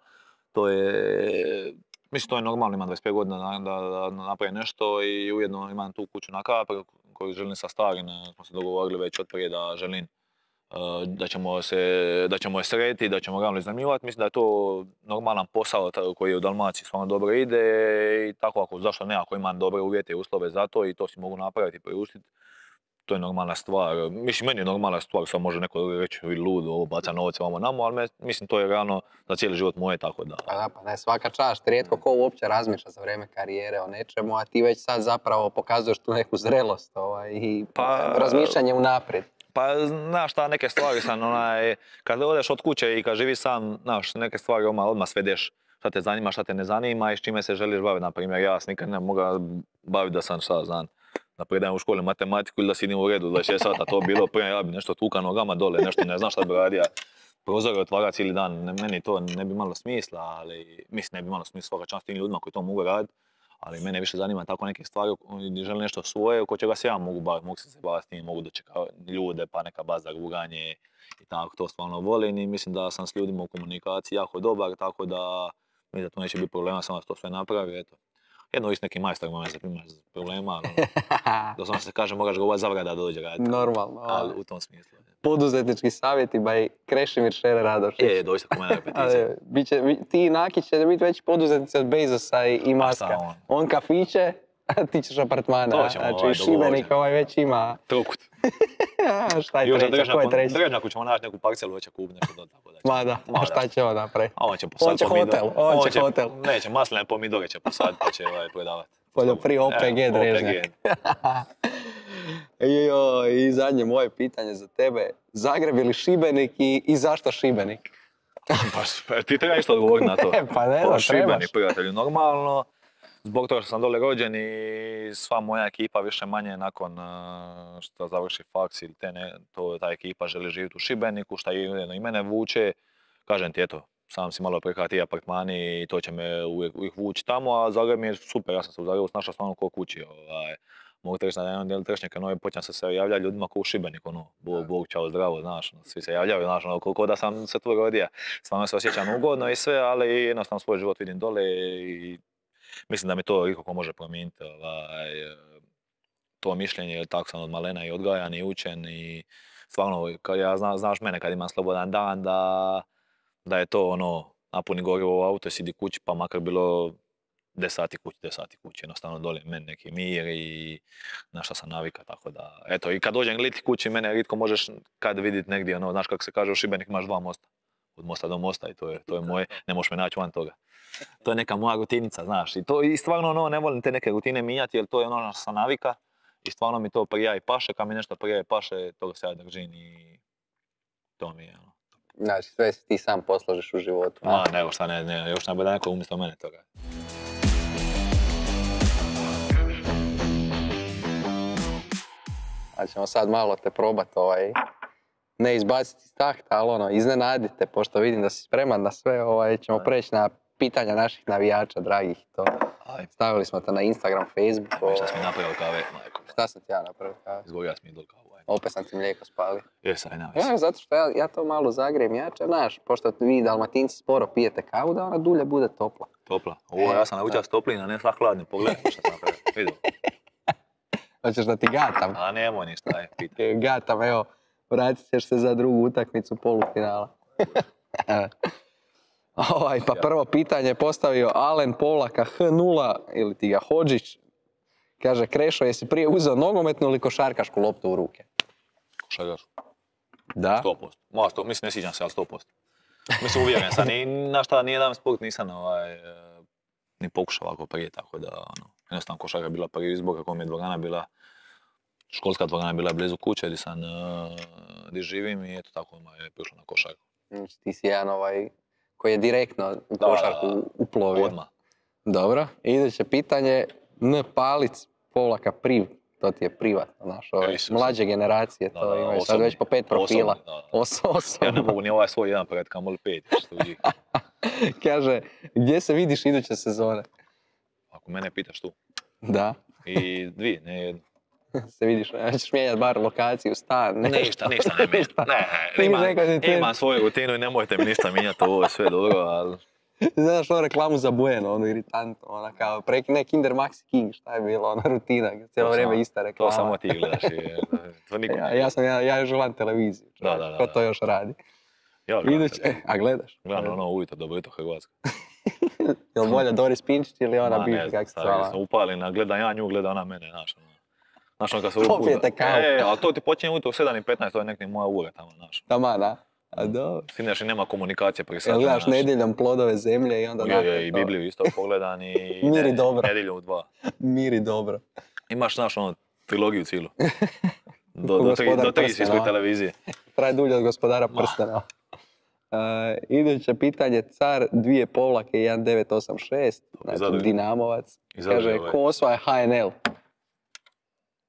To je, mislim, to je normalno, imam 25 godina da napravim nešto i ujedno imam tu kuću na Kapru koju želim sa starim, smo se dogovorili već od prije da želim da ćemo je srediti, da ćemo ravno iznajmljivati. Mislim da je to normalan posao koji u Dalmaciji stvarno dobro ide i tako zašto ne, ako imam dobre uvjete i uslove za to i to si mogu napraviti i priuštiti. To je normalna stvar. Mislim, meni je normalna stvar, sad može neko reći lud, ovo baca novce, ovamo namo, ali mislim to je realno za cijeli život moje, tako da.
Pa ne, svaka čast, rijetko ko uopće razmišlja za vrijeme karijere o nečemu, a ti već sad zapravo pokazuješ tu neku zrelost i razmišljanje unaprijed.
Pa, znaš šta, neke stvari sam, kad odeš od kuće i kad živiš sam, znaš, neke stvari odmah svedeš šta te zanima, šta te ne zanima i s čime se želiš baviti. Naprimjer, ja se nikad ne mogu baviti da sam šta znam, da predajem u školi matematiku ili da sidim u redu 26 sata, to bilo prije, ja bi nešto tuka nogama dole, nešto ne znam šta bi radio. Prozore otvara cijeli dan, meni to ne bi malo smisla, ali mislim ne bi malo smisla svaka čast tim ljudima koji to mogu raditi. Ali mene više zanima tako neke stvari gdje želim nešto svoje, oko čega se ja mogu baviti, mogu se baviti s tim, mogu dočekati ljude, pa neka baza ruganje i tako, to stvarno volim i mislim da sam s ljudima u komunikaciji jako dobar, tako da mislim da to neće biti problema, samo da to sve napravi, eto. Jedno i s nekim majstorima imaš problema, ali doslovno se kaže moraš govoriti zavrati da dođe raditi.
Normalno.
Ali u tom smislu.
Poduzetnički savjeti by Krešimir Šere Radošić.
Je, doista ko mene repeticija.
Ti i Nakić će biti veći poduzetnici od Bezosa i Maska. On kafiće, a ti ćeš apartmana.
To ćemo
Šibenik već ima.
Trokut.
Šta je
Još
treća? Ko je treći?
Drežnjaku ćemo naći neku parcelu, već će kupiti nešto do tako da će.
Ma da, a šta će on napraviti?
A on će
On
posaditi
će hotel, on će hotel.
Neće, masline pomidore će posaditi pa će prodavati.
OPG Drežnjak. I zadnje moje pitanje za tebe. Zagreb ili Šibenik i zašto Šibenik?
Pa ti treba isto odgovoriti na to.
Pa ne znam,
Šibenik,
trebaš.
prijatelju, normalno. Zbog toga što sam dole rođen i sva moja ekipa više manje nakon što završi faks ili ta ekipa želi živjeti u Šibeniku, šta i mene vuče. Kažem ti, eto, sam si malo prihvati ti apartmani i to će me uvijek vući tamo, a Zagreb mi je super, ja sam se u Zagrebu snašao stvarno ko kući. Mogu te reći na jednom dijelu Trešnjaka, počnem se javljati ljudima ko u Šibeniku, Bog, čao, zdravo, znaš, svi se javljaju, znaš, koliko da sam se tu rodio. Stvarno se osjećam ugodno i sve, ali jednostavno svoj život vidim dole i mislim da mi to ikako može promijeniti to mišljenje, jer tako sam od malena i odgajan i učen i stvarno, znaš mene kad imam slobodan dan, da je to napuni gorivo u auto i sidi kući, pa makar bilo 10 sati kući, jednostavno dole meni neki mir i na šta sam navika, tako da, eto, i kad dođem liti kući, mene ritko možeš kad vidjeti negdje, znaš kako se kaže u Šibenik imaš 2 mosta, od mosta do mosta i to je moje, ne možeš me naći van toga. To je neka moja rutinica, znaš, i stvarno ne volim te neke rutine mijenjati, jer to je ono što sam navika i stvarno mi to prija i paše, kad mi nešto prija i paše, toga se ja držim i to mi je
Znači, sve si ti sam posložiš u životu.
Ma, nego šta ne, još najbolje neko umjesto mene toga.
Znači ćemo sad malo te probati ne izbaciti iz takta, ali iznenadite, pošto vidim da si spreman na sve, ćemo preći na pitanja naših navijača, dragih. Stavili smo te na Instagram, Facebook.
Šta si mi napravio kave, majko?
Šta sam ti ja napravio kave?
Izgorio sam idol kavu.
Opet sam ti mlijeko spalio.
Jesaj, nema.
Zato što ja to malo zagrijem jače, znaš, pošto vi Dalmatinci sporo pijete kavu, da ona dulje bude topla.
Topla? Ovo ja sam naučio s toplina, ne sva hladni, pogledaj šta sam napravio, vidio.
Hoćeš da ti gatam?
A nemoj ništa, pitaj.
Gatam, evo, vratit ćeš se za drugu utakmicu polufinala. Pa prvo pitanje je postavio Alen Polaka H0 ili ti ga Hodžić. Kaže, Krešo, jesi prije uzeo nogometnu ili košarkašku loptu u ruke?
Košarkašku.
Da?
100%. Mislim, ne sviđam se, ali 100%. Mislim, uvjeren sam. Na šta, nijedan sport nisam ni pokušao ovako prije, tako da, jednostavno košarka je bila prvi izbor, kako mi je dvorana bila, školska dvorana je bila blizu kuće gdje živim i eto tako mi je prišlo na košarku.
Ti si jedan koji je direktno u košarku uplovio.
Odmah.
Dobro, iduće pitanje, N. Palic, Polaka Priv, to ti je privatno, znaš, mlađe generacije, to imaju sad već po 5 profila. Osobno.
Ja ne mogu ni svoj jedan pred, kamoli 5.
Kaže, gdje se vidiš iduće sezone?
Ako mene pitaš tu.
Da.
I 2, ne jednu.
Se vidiš, ćeš mijenjati bar lokaciju, stan,
Ništa ne mijenjam. Imam svoju rutinu i nemojte mi ništa mijenjati, ovo je sve dobro, ali...
Znaš onu reklamu za Bueno, iritantno, kao ne Kinder Maxi King, šta je bilo, ona rutina, cijelo vrijeme ista reklama.
To samo ti gledaš
Ja još gledam televiziju, ko to još radi. A gledaš?
Gledam ujutro, dobro jutro Hrvatska.
Jel bolje Doris Pinčić ili ona bivša, kako se zvala?
Upalina, gledam ja nju, gleda ona mene, znaš. Znaš kad se
popijete kavu.
Ali to ti počinje ujutro u 7:15, to je nekak moja ura tamo, znaš.
Tama, da. A dobro.
Sinaš i nema komunikacije prije sata.
Gledaš nedjeljom Plodove zemlje i onda...
I Bibliju isto pogledan i...
Miri dobro.
Nedjeljom u 2.
Miri dobro.
Imaš, znaš, trilogiju cijelu. Do 3 si ispred televizije.
Traje dulje od Gospodara prstena. Iduće pitanje, Car 2 Povlake 1986, znači Dinamovac. Kaže, ko osvaja HNL?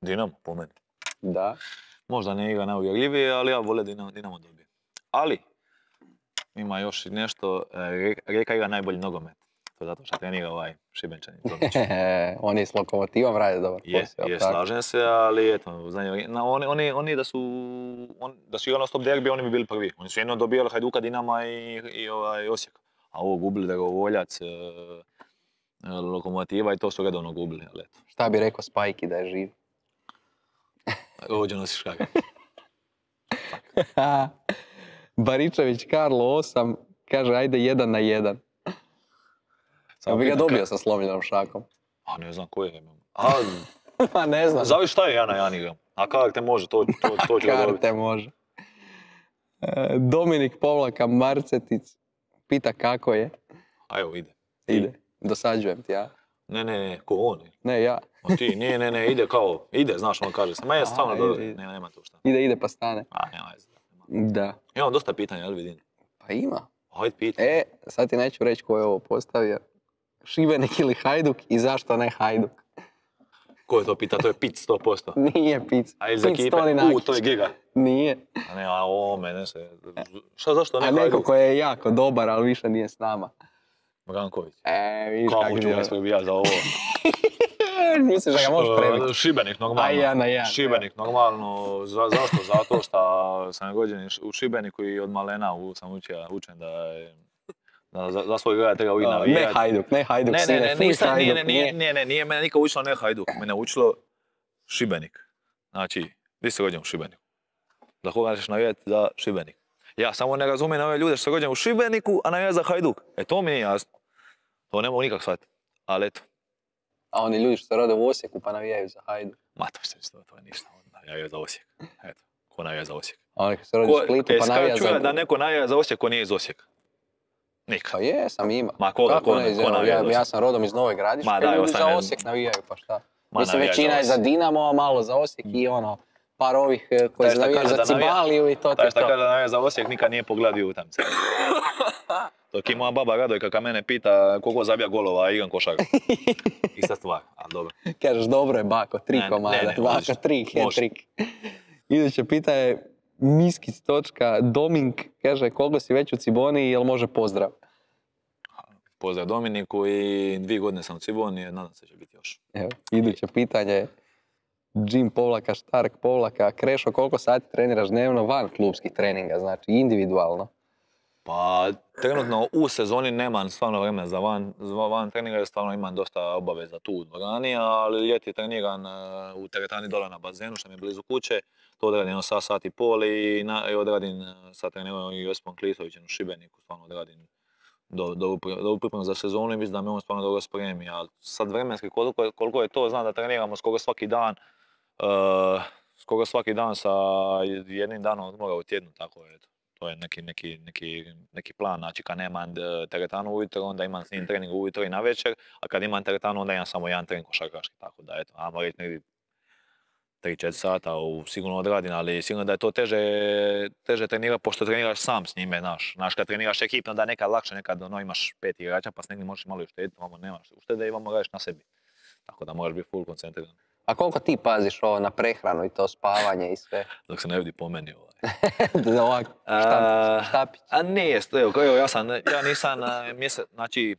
Dinamo, po meni.
Da.
Možda ne igra najuvjerljivije, ali ja vole Dinamo dobije. Ali, ima još nešto, Rijeka igra najbolji nogomet. To zato što trenira Šibenčanin.
Oni s Lokomotivom rade dobar posao.
Je, slažem se, ali eto, oni da su igrali stop derbi, oni bi bili prvi. Oni su jedno dobijali Hajduka, Dinama i Osijek. A ovo gubili Dragovoljac, Lokomotiva i to su redovno gubili.
Šta bi rekao Spajki da je živ?
Ovdje nosiš kaga.
Baričević Karlo 8 kaže ajde 1 na 1. Ja bi ga dobio sa slomljenom šakom.
A ne znam ko je.
Pa ne znam.
Zavi šta je 1 na 1 igram? A karte može, to ću dobiti.
Karte može. Dominik Povlaka Marcetic pita kako je.
A evo, ide.
Ide. Dosađujem ti ja.
Ne, ko on?
Ne, ja.
O ti, nije, ide, znaš, on kaže se. Ma je stvarno dobro, nema tu šta.
Ide pa stane.
A, nema.
Da.
Imam dosta pitanja, jel vidim?
Pa ima.
Hajde pitaj.
Sad ti neću reći ko je ovo postavio. Šibenik ili Hajduk i zašto ne Hajduk?
Ko je to pita? To je Pic 100%.
Nije Pic.
A iz ekipe? To je Giga.
Nije.
A ne, mene se... Zašto ne
Hajduk? A neko ko je jako dobar, ali više nije s nama.
Branković.
Vidiš kako
ću ga isprobijati za ovo?
Misliš da ga možeš prebiti?
Šibenik normalno. Šibenik normalno. Zašto? Zato što sam rođen u Šibeniku i od malena sam učen da je... Za svoj grad treba uvijek navijati.
Ne Hajduk, sine,
nije mene nikad učilo ne Hajduk. Mene učilo Šibenik. Znači, ti si rođen u Šibeniku. Za koga ćeš navijati? Za Šibenik. Ja samo ne razumijem ove ljude što su rođeni u Šibeniku, a navijati za Hajduk. To mi nije jasno. To ne mogu nikak shvatiti. Ali eto.
A oni ljudi što se rode u Osijeku pa navijaju za Hajduk.
Ma to je ništa. Navijaju za Osijek. Eto. Ko navija za Osijek?
A oni koji se rode u Splitu pa navija za...
da neko navija za Osijek ko nije iz Osijeka? Nikad.
Pa jesam, ima.
Ma koga navija?
Ja sam rodom iz Nove Gradiške, ljudi za Osijek navijaju, pa šta? Mislim, većina je za Dinamo, a malo za Osijek i par ovih koji navijaju za Cibaliju i to.
Taj šta kaže da navija za Osijek nikad nije pogledio utakmice. Dok i moja baba Radojka kad mene pita koliko zabija golova, igram košarku. Ista stvar, ali dobro.
Kažeš dobro je bako, 3 komada, bako 3, hat-trick. Iduće pita je Miskic točka, Domink, kaže koliko si već u Ciboni, jel može pozdrav?
Pozdrav Dominiku i 2 godine sam u Ciboni, nadam se će biti još.
Evo, iduće pitanje je Jim Povlaka, Štark Povlaka, Krešo, koliko sati treniraš dnevno van klubskih treninga, znači individualno?
Pa trenutno u sezoni nemam stvarno vremena za van treninga, jer stvarno imam dosta obaveza tu u dvorani, ali ljeti treniram u teretani dole na bazenu što mi je blizu kuće. To odradim sat i pol i odradim sad treniram i Josipom Klisovićem u Šibeniku, stvarno odradim do pripremu za sezonu i mislim da me on stvarno dobro spremi. A sad vremenski koliko je to, znam da treniramo skoro svaki dan sa jednim danom odmora u tjednu, tako je. To je neki plan, znači kad nemam teretanu ujutro, onda imam s njim trening ujutro i navečer, a kad imam teretanu, onda imam samo jedan trening košarkaški, tako da eto, ajmo reći negdje 3-4 sata sigurno odradim, ali sigurno da je to teže trenirati, pošto treniraš sam s njime, znaš, kad treniraš ekipno da nekad lakše, nekad imaš 5 igrača, pa s negdje možeš malo uštediti, vamo nemaš uštede i vamo radiš na sebi, tako da moraš biti full koncentriran.
A koliko ti paziš na prehranu i to spavanje i sve?
Dok se ne vidi po meni
Ovako, štapić.
A nije, evo, ja nisam znači,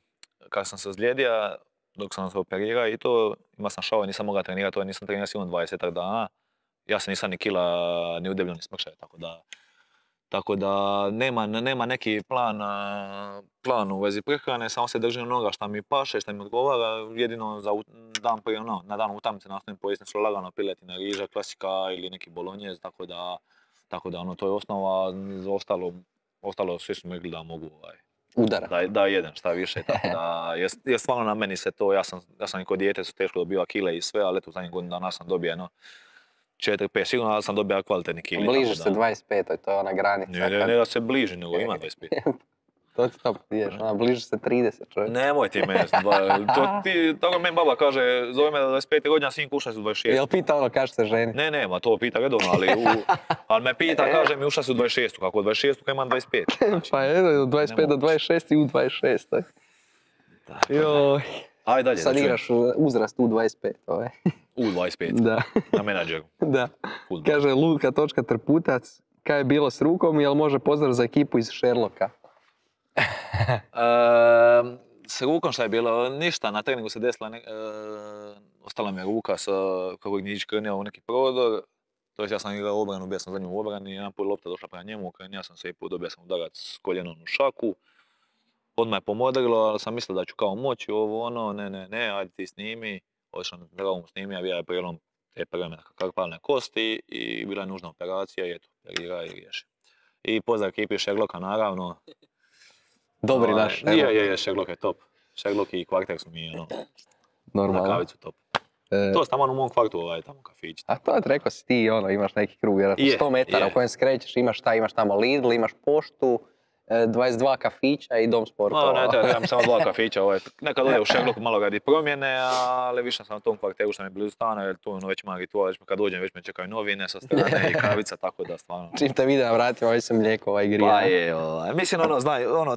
kad sam se ozlijedio, dok sam se operirao i to, imao sam šao, nisam mogao trenirati, to nisam trenirao sigurno 20 dana. Ja se nisam ni kila, ni udebljio, ni smršao, tako da nema neki plan u vezi prehrane, samo se držim onoga šta mi paše, šta mi odgovara, jedino za dan prije, na dan utakmice nastavim pojesti nešto lagano, piletina, riža, klasika ili neki bolonjez, tako da to je osnova, ostalo svi su mi rekli da mogu
udara.
Da jedem šta više, tako da je stvarno na meni se to, ja sam i kod dijete su teško dobio kile i sve, ali eto u zadnjih godinu dana sam dobio 4-5, sigurno da sam dobio kvalitetni kili.
Bližiš se 25, to je ona granica.
Ne da se bliži, nego ima 25.
To ti to priješ, bližiš se 30 čovjek.
Nemoj ti meni, tako meni baba kaže, zove me da 25 godina, sin kuša su 26.
Jel pita kaže se ženi?
Ne, to pita redovno, ali me pita, kaže mi uša su 26, kako od 26 kad imam 25. Znači,
pa je, od 25 do 26 i u 26. Joj.
Ajde dalje.
Sad igraš uzrast U25.
U25?
Da.
Na menadžeru?
Da. Kaže Luka.Trputac, kaj je bilo s rukom, jel može pozdrav za ekipu iz Sherlocka?
S rukom šta je bilo? Ništa, na treningu se desila, ostala mi je ruka kako je Gnjić krnjao u neki prodor. To ja sam igrao obranu, bio sam za njim u obrani, jedan put lopta došla prema njemu, krnjao sam se i put dobio sam udarac s koljenom u šaku. Odmah je pomodrilo, ali sam mislio da ću kao moći ne, ajde ti snimi. Otišao na traumu snimi, a bio je prijelom te prve metakarpalne kosti i bila je nužna operacija i eto, operira i riješi. I pozdrav ekipi Sherlocka naravno.
Dobri naš.
Je, Sherlock je top. Sherlock i Kvarter su mi
normalno.
Na kavicu top. To je tamo u mom kvartu, tamo kafić.
A to rekao si ti, imaš neki krug, vjerojatno 100 metara u kojem skrećeš, imaš tamo Lidl, imaš poštu, 22 kafića i dom sportova.
Ne, imam samo 2 kafića, nekad ode u Šegloku malo radi promjene, ali više sam na tom kvarteru što mi je blizu stana, jer tu već ima ritual, kad dođem već me čekaju novine sa strane i kavica, tako da stvarno.
Čim te vide na vratima, već sam mlijeko i grija.
Pa je, mislim,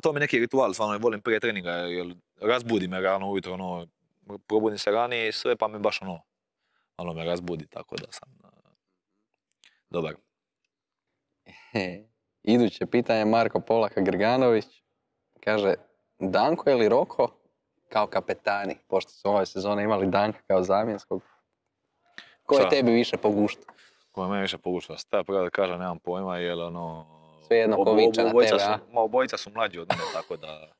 to mi je neki ritual, stvarno volim prije treninga, jer razbudi me rano ujutro, probudim se ranije i sve, pa me baš malo me razbudi, tako da sam dobar.
Iduće pitanje Marko Polaka Grganović. Kaže, Danko ili Roko kao kapetani, pošto su ove sezone imali Danka kao zamjenskog. Ko je tebi više po guštu?
Ko je meni više po guštu? Šta pravo da kažem, nemam pojma, jer
sve jedno ko viče na tebe, a?
Obojica su mlađi od mene, tako da...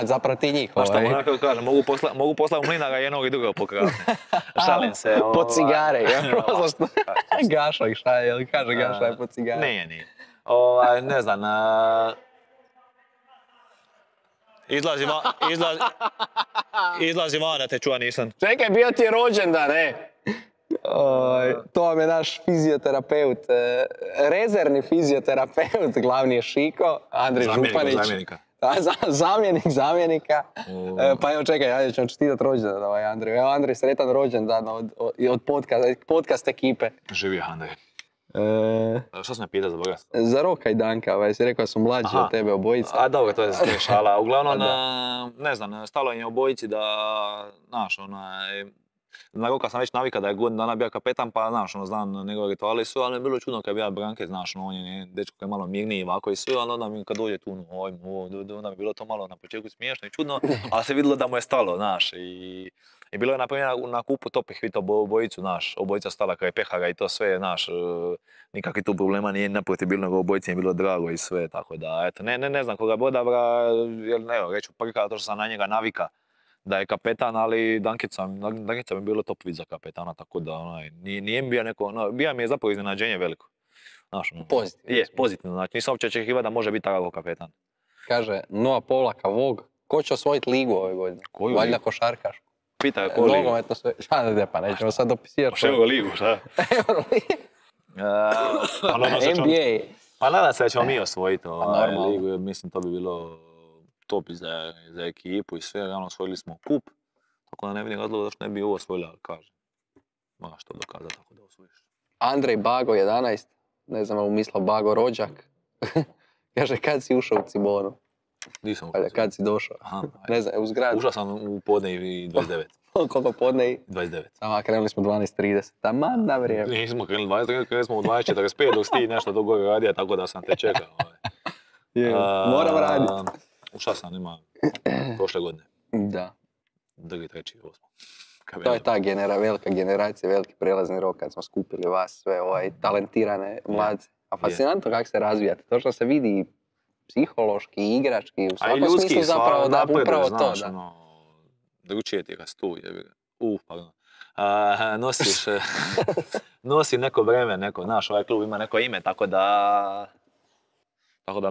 Zapravo ti njih.
Šta onako kažem, mogu poslati u mlinara jednog i drugog pokrasne. Šalim se.
Po cigare, Gašo ih šalje, kaže Gaša je po cigare.
Nije. Ne znam, izlazi van da te čuva nisam.
Čekaj, bio ti je rođendan, to vam je naš fizioterapeut, rezervni fizioterapeut, glavni je Šiko, Andrej Županić. Zamjenika. Pa evo čekaj, ajde ćemo čestitati rođendan Andrej. Evo Andrej, sretan rođendan od podcast ekipe.
Živio Andrej. Što sam me pitao za Boga?
Za Roka i Danka, si rekao da su mlađi od tebe obojica.
A dobro, to je šala. Uglavnom, ne znam, stalo im je obojici da, znaš, na Roka sam već navika da je godin dana bio kapetan, pa znaš, znam njegove rituale i sve, ali mi je bilo čudno kad bi ja Branke, znaš, on je dečko koji je malo mirniji ovako i sve, ali onda mi kad dođe tu, onda mi je bilo to malo na početku smiješno i čudno, ali se vidjelo da mu je stalo, znaš, i bilo je naprimjer na kupu topih vito obojicu, znaš, obojica stala kraj pehara i to sve, znaš, nikakvi tu problema nije naprotiv bilo, nego obojici je bilo drago i sve, tako da, eto, ne znam koga bi odabra, jer evo, reću prka, to što sam na njega navika da je kapetan, ali Dankica mi je bilo top vid za kapetana, tako da, nije mi bio neko, bio mi je zapravo iznenađenje veliko.
Pozitivno.
Je, pozitivno, znači nisam uopće očekivao da može biti takav kapetan.
Kaže, Noa Polaka Vog, ko će osvojiti ligu ove godine?
Koju
Valjda košarkašku.
Pita ko ligu?
Nogometno sve, pa nećemo sad dopisirati.
Ševo ligu, šta?
NBA.
Pa nadam se da ćemo mi osvojiti ligu, mislim to bi bilo top za ekipu i sve, osvojili smo kup, tako da ne vidim razloga da što ne bi ovo osvojili, ali kažem, moraš to dokazati tako da osvojiš.
Andrej Bago 11, ne znam ali mislio Bago rođak, kaže kad si ušao u Cibonu?
Nisam
ušao. Kad si došao? Ne znam, u zgradu.
Ušao sam u podne i 29.
Koliko podne i?
29.
Sama krenuli smo 12:30, taman na vrijeme.
Nismo krenuli 12:30, krenuli smo u 2:45 dok si ti nešto do gore radija, tako da sam te čekao.
Moram raditi.
Ušao sam ima prošle godine.
Da.
2., 3., 8.
To je ta velika generacija, veliki prelazni rok kad smo skupili vas sve talentirane mladce. A fascinantno kako se razvijate. To što se vidi psihološki, igrački, u svakom smislu zapravo da upravo to.
Drugčije ti kad si tu, pardon. Nosi neko vreme, znaš, ovaj klub ima neko ime, tako da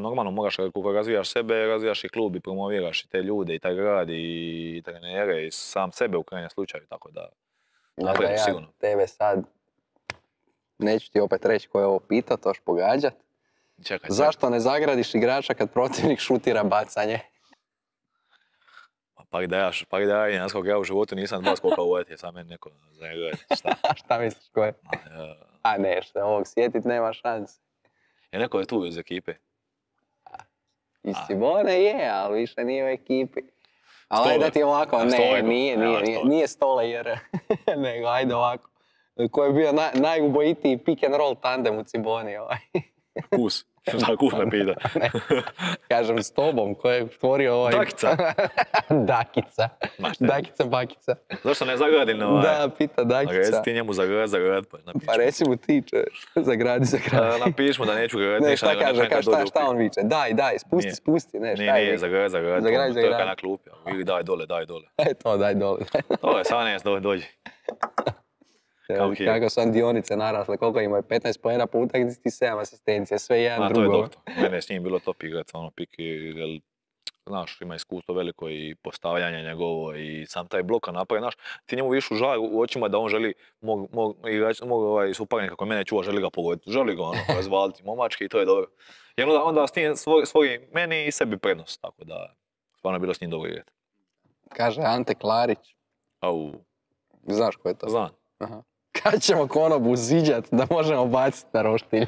normalno moraš, kako razvijaš sebe, razvijaš i klub i promoviraš i te ljude i taj grad i trenere i sam sebe u krajnjem slučaju, tako da naprijed sigurno.
Tebe sad, neću ti opet reći ko je ovo pitao, to još pogađat.
Čekaj.
Zašto ne zagradiš igrača kad protivnik šutira bacanje?
Pa da ja inaskog ja u životu nisam dva skoka uvjeti, sam meni neko zagradi.
Šta misliš ko je? A ne, što ovog sjetit nema šanse.
Neko je tu iz ekipe.
Iz Cibone je, ali više nije u ekipi. Ali ajde da ti ovako, nije Stole jer, nego ajde ovako. Ko je bio najubojitiji pick and roll tandem u Ciboni
Kus. Da, Kus me pita.
Kažem s tobom, ko je stvorio
Dakica.
Dakica, Bakica.
Zašto ne zagradim
Da, pita Dakica.
Reci ti njemu zagrad,
pa reci mu ti zagradi.
Napiš mu da neću graditi.
Ne, šta kaže, šta on viče? Daj, spusti, ne, šta je?
Nije, zagrad, to je kad na klupi. Ili daj dole.
To, daj dole.
To je, 18, dođi.
Kako su dionice narasle, koliko imaju, 15 poena po utakmici, 7 asistencija, sve jedan drugo.
To je doktor. Mene je s njim bilo top igrat, pik, znaš, ima iskustvo veliko i postavljanje njegovo i sam taj blok napravi, znaš, ti njemu višu žar u očima da on želi, mog suparnika koji mene čuva, želi ga pogoditi, želi ga razvaliti momački i to je dobro. Jer onda s tim stvori meni i sebi prednost, tako da stvarno je bilo s njim dobro igrati.
Kaže Ante Klarić.
Au.
Znaš ko je to?
Znam.
Aha. Kad ćemo konobu ziđat da možemo baciti na roštilj?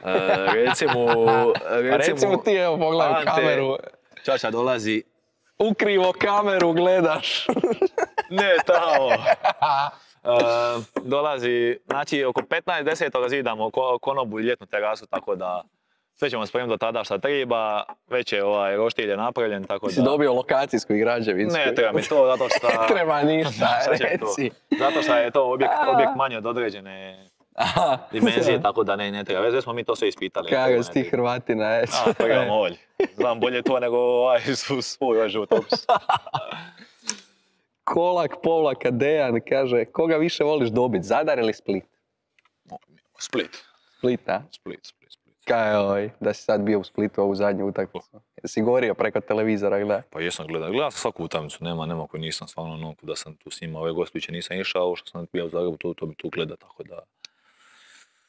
Recimo ti, evo pogledaj
Ante,
kameru.
Čača dolazi.
Ukrivo kameru gledaš.
Ne, tamo. Dolazi, znači oko 15.10. zidamo konobu i ljetnu terasu, tako da sve ćemo spremiti do tada šta treba, već je roštilj je napravljen, tako da...
Si dobio lokacijsku i građevinsku?
Ne, treba mi to, zato što...
Ne treba ništa, reci.
Zato što je to objekt manje od određene dimenzije, tako da ne treba. Već smo mi to sve ispitali.
Kako si ti Hrvatina, eto.
Pregledamo ovdje. Znam bolje to nego svoj životopis.
Kolak povlaka Dejan kaže, koga više voliš dobiti, Zadar ili Split?
Split.
Split, a?
Split.
Kaj da si sad bio u Splitu ovu zadnju utakmicu? Jesi gorio preko televizora, gledaj?
Pa jesam gledao sam svaku utakmicu, nema koju nisam stvarno, da sam tu s njima, ove gostujuće nisam išao, što sam bio u Zagrebu, to bi tu gleda, tako da...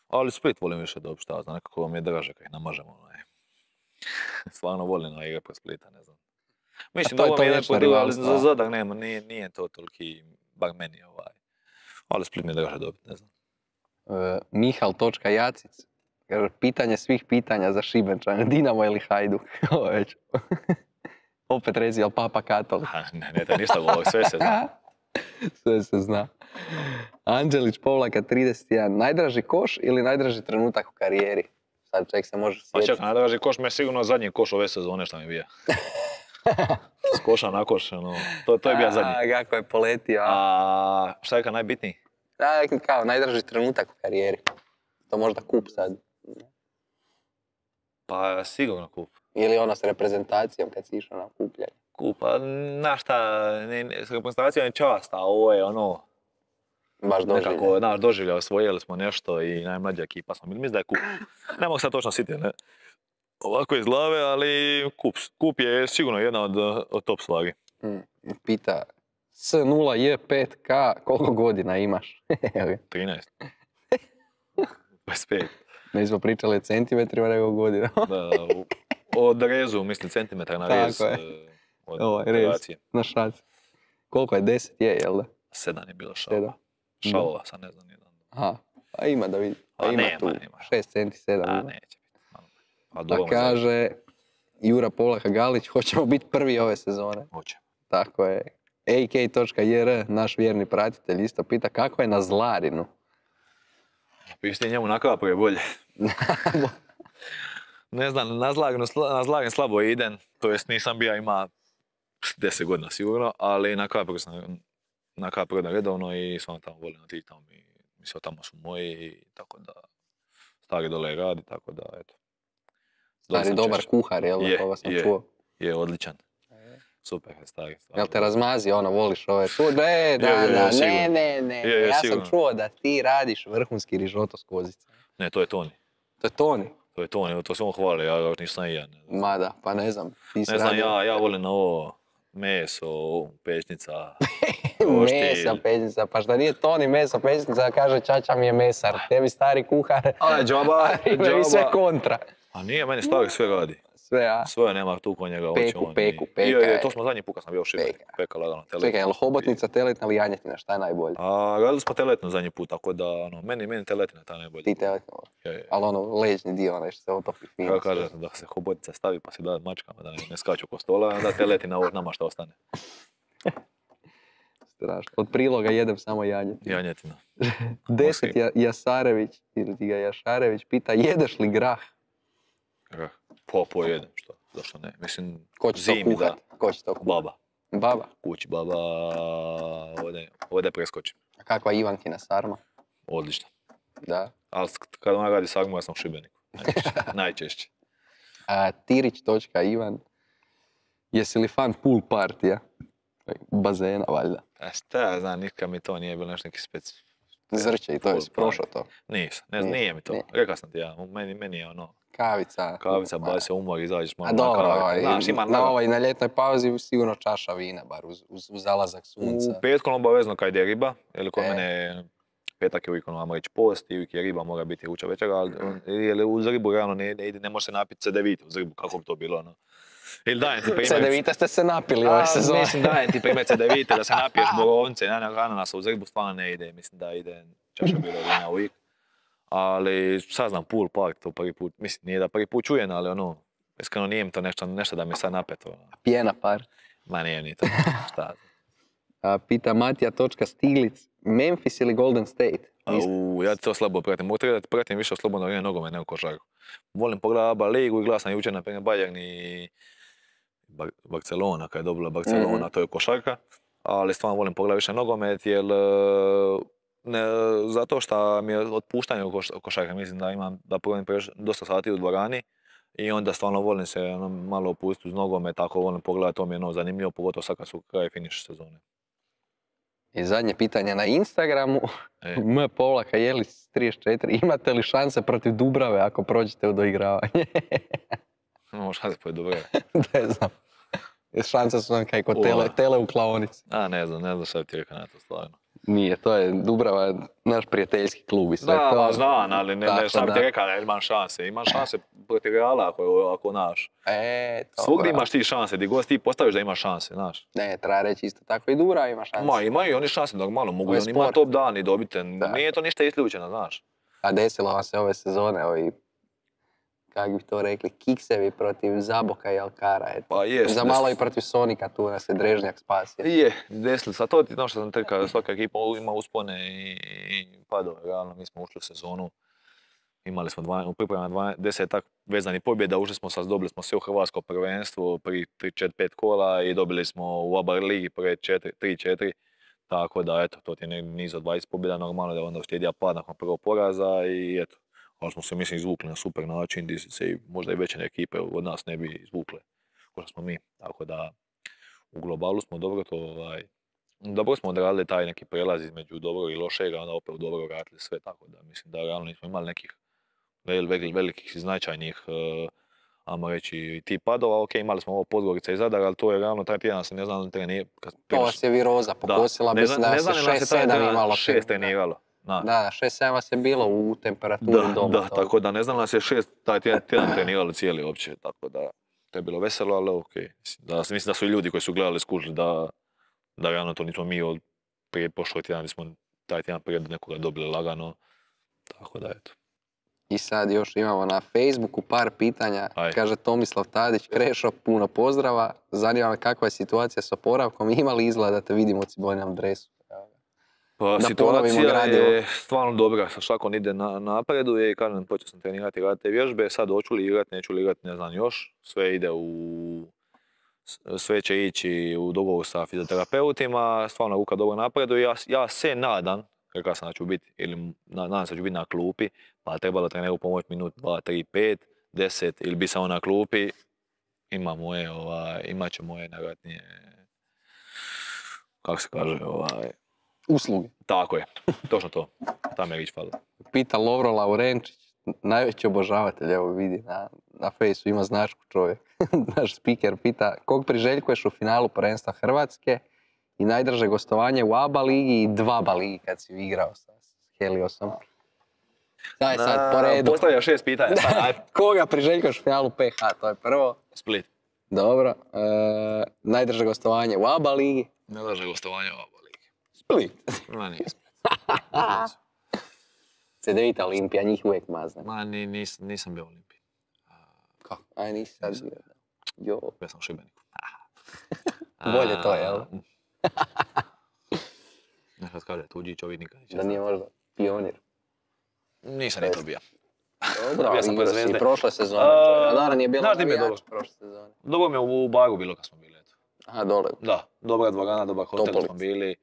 Ali Split volim više dobiti, šta znam, nekako vam je draže kad ih namažemo, Stvarno volim na igre po Splita, ne znam. Mislim da ovo je jedan podijel, ali za Zadar nema, nije to toliki, bar meni ali Split mi je draže dobiti, ne znam.
Mihal.jacic, kaže, pitanje svih pitanja za Šibenčane, Dinamo ili Hajduk? Ovo već. Opet rezi, jel Papa Katolik?
Ne, ništa govori, sve se zna.
Sve se zna. Anđelić povlaka 31, najdraži koš ili najdraži trenutak u karijeri? Sad čovjek se može sjetiti.
Pa čekaj, najdraži koš mi je sigurno zadnji koš ove sezone što mi je bio. S koša na koš, to je bio zadnji.
Kako je poletio.
A šta je kao najbitniji?
Kao najdraži trenutak u karijeri. To možda kup sad.
Pa sigurno kup.
Ili ono s reprezentacijom kad si išao na kupljanje.
Kup, pa znaš šta, s reprezentacijom je čast, a ovo je
baš doživlja.
Nekako, doživlja, osvojili smo nešto i najmlađa ekipa smo bili. Mislim da je kup. Ne mogu sad točno sjetiti, ne? Ovako iz glave, ali kup je sigurno jedna od top stvari.
Pita, S0J5K, koliko godina imaš?
13. 25.
Ne smo pričali o centimetrima nego godina.
Da, od rezu, mislim, centimetra na rez.
Tako je.
Od operacije.
Na šaci. Koliko je? 10 je, jel da?
7 je bilo šalova. Šalova, sad ne znam jedan.
Aha, pa ima da vidi.
Pa
ima
nema.
6 centi, 7.
A, neće biti.
A kaže Jura Povlaka Galić, hoćemo biti prvi ove sezone.
Hoće.
Tako je. AK.jr, naš vjerni pratitelj, isto pita kako je na Zlarinu.
Pišti njemu na kapu je bolje. Ne znam, na Zlarin slabo idem, to jest nisam bio ima 10 godina sigurno, ali na kapu gledam redovno i stvarno tamo volim otići tamo i mislim tamo su moji i tako da stari dole radi, tako da eto.
Stari dobar kuhar, jel da, koga sam čuo?
Je, odličan. Super je stari.
Jel te razmazi, voliš ove sude? Ne, ja sam čuo da ti radiš vrhunski rižoto s kozice.
Ne, to je Toni.
To je Toni?
To je Toni, to se on hvali, ja još nisam i ja.
Mada, pa ne znam.
Ne znam, ja volim na ovo meso, pečnica,
Meso, pečnica, pa šta nije Toni meso, pečnica, kaže čača mi je mesar, tebi stari kuhar.
A, džaba.
I sve kontra.
A nije, meni stari sve radi.
Sve, a?
Sve nema tu ko njega.
Peku.
To smo zadnji put kad sam bio u Šibeniku. Peka lagano, teletna.
Čekaj, je li hobotnica, teletna ili janjetina, šta je najbolje?
Radili smo teletnu zadnji put, tako da, meni teletna ta najbolje.
Ti teletna voliš? Ali ležni dio, što se otopi fino.
Kako kaže da se hobotica stavi pa si da mačkama, da ne skaču oko stola, onda teletina nama što ostane.
Strašno. Od priloga jedem samo janjetinu.
Janjetina.
10 Jasarević, ili ti ga Jašarević, pita jedeš li grah?
Grah? Pojedem, što? Zašto ne? Mislim,
ko će to kuhat? Ko će to kuhat?
Baba.
Baba?
Kući baba, ovdje preskočim.
A kakva Ivankina sarma?
Odlično.
Da.
Ali kad ona radi sarmu, ja sam u Šibeniku. Najčešće.
Tirić.Ivan, jesi li fan pool partija? Bazena, valjda.
Šta ja znam, nikad mi to nije bilo nešto neki
Zrće i to je prošlo to.
Nisam, ne znam, nije mi to. Rekao sam ti ja, meni je ono...
Kavica.
Baš se umor, izađeš malo
na kavi. Na ovoj na ljetnoj pauzi sigurno čaša vina, bar uz zalazak sunca.
U petkom obavezno kad ide riba, jer kod mene petak je uvijek ono reći post i uvijek je riba, mora biti ruča večera, ali uz ribu realno ne može se napiti C9 uz ribu, kako bi to bilo ono. Ili dajem ti primjer...
C9 ste se napili ove sezone.
Mislim, dajem ti primjer C9 da se napiješ borovnice, ananasa uz ribu stvarno ne ide, mislim da ide čaša bilo vina uvijek. Ali saznam pool park to prvi put, mislim nije da prvi put čujem, ali ono, iskreno nije mi to nešto da mi sad napeto.
Pjena par.
Ma nije ni to, šta.
Pita Matija.Stiglic, Memphis ili Golden State?
Ja to slabo pratim, mogu da ti pratim više slobodno vrijeme nogomet nego košarku. Volim pogledati ABA ligu i gledam sam jučer na primjer Bayern i Barcelona, kad je dobila Barcelona, to je košarka, ali stvarno volim pogledati više nogomet, jer zato što mi je otpuštanje u košarka, mislim da imam da provjerim dosta sati u dvorani i onda stvarno volim se malo opustiti uz nogomet, tako volim pogledati, to mi je zanimljivo, pogotovo sad kad su kraj finiš sezone.
I zadnje pitanje na Instagramu, m.jelis34, imate li šanse protiv Dubrave ako prođete u doigravanje?
Imamo šanse protiv Dubrave?
Ne znam. Šanse su nam kaj kod tele u klaonici.
Ne znam šta ti rekao na to stvarno.
Nije, to je Dubrava, naš prijateljski klub i sve to.
Da, znam, ali ne šta bi ti rekao da imam šanse. Imam šanse protiv Reala ako naš. Svugdje imaš ti šanse, gdje god ti postaviš da imaš šanse, znaš.
Ne, treba reći isto tako i Dubrava ima šanse.
Imaju oni šanse normalno, mogu oni imati top dan i dobiti. Nije to ništa isključeno, znaš.
A desilo vam se ove sezone, ovi, kako bi to rekli, kiksevi protiv Zaboka i Alkara.
Pa jest.
Za malo i protiv Sonika tu nas je Drežnjak spasio.
Je, desilo se. A to ti što sam tekao, svaka ekipa ima uspone i padove. Realno, mi smo ušli u sezonu. Imali smo u pripremama 10 vezanih pobjeda, dobili smo sve u hrvatsko prvenstvo pri 3-4-5 kola i dobili smo u ABA ligi prve 3-4. Tako da, eto, to ti je niz od 20 pobjeda, normalno da onda uslijedija pad nakon prvog poraza i eto. Ali smo se, mislim, izvukli na super način, gdje se i možda i veće ekipe od nas ne bi izvukle, kao što smo mi. Tako da, u globalu smo dobro smo odradili taj neki prelaz između dobrog i lošega, onda opet u dobro vratili sve, tako da mislim da realno nismo imali nekih velikih i značajnih, ajmo reći, tih padova. Ok, imali smo ovo Podgorica i Zadar, ali to je realno taj tjedan se ne znam li treniralo.
To vas je viroza pokosila, mislim da se 6-7 imalo.
6 treniralo.
Da, 6-7 vas je bilo u temperaturi doma.
Da, tako da ne znam nas je 6 taj tjedan trenirali cijeli uopće, tako da to je bilo veselo, ali okej. Mislim da su i ljudi koji su gledali skužili da realno to nismo mi od prije prošlog tjedan, smo taj tjedan prije nekoga dobili lagano, tako da eto.
I sad još imamo na Facebooku par pitanja. Kaže Tomislav Tadić, Krešo, puno pozdrava. Zanima me kakva je situacija s oporavkom, ima li izgleda da te vidimo u Ciboninom dresu?
Pa situacija je stvarno dobra, sa šakom ide napreduje i kažem, počeo sam trenirati, raditi te vježbe, sad hoću li igrati, neću li igrati, ne znam još. Sve će ići u dogovoru sa fizioterapeutima, stvarno ruka dobro napreduje. Ja se nadam, rekao sam da ću biti, ili nadam se da ću biti na klupi, pa trebalo treneru pomoći minut, 2, 3, 5, 10 ili bi samo na klupi. Imat će moje najvjerojatnije, kako se kaže,
usluge.
Tako je, točno to. Tam je riječ falo.
Pita Lovro Laurenčić, najveći obožavatelj, evo vidi, na fejsu ima značku čovjek. Naš speaker pita, kog priželjkuješ u finalu prvenstva Hrvatske i najdrže gostovanje u ABA ligi i 2 ligi kad si igrao sa Heliosom. Daj sad, po redu.
Postavlja 6 pitanja.
Koga priželjkuješ u finalu PH, to je prvo.
Split.
Dobro. Najdrže gostovanje u ABA ligi.
Najdrže gostovanje u ABA ligi.
Split.
Ma nije Split.
C9 Olimpija, njih uvijek mazne.
Ma nisam bio Olimpiji.
Kako? Aj, nisi sad bio. Jo.
Ja sam u Šibeniku.
Bolje to, jel?
Nekad kaže, tuđi čovjek nikad neće.
Da nije možda Pionir.
Nisam ni to bio.
Dobro,
ja sam
igrao si prošle sezone. A da, nije bilo navijač prošle sezone.
Dobro mi je u Baru bilo kad smo bili.
Aha, dole.
Da, dobra dvorana, dobar hotel smo bili.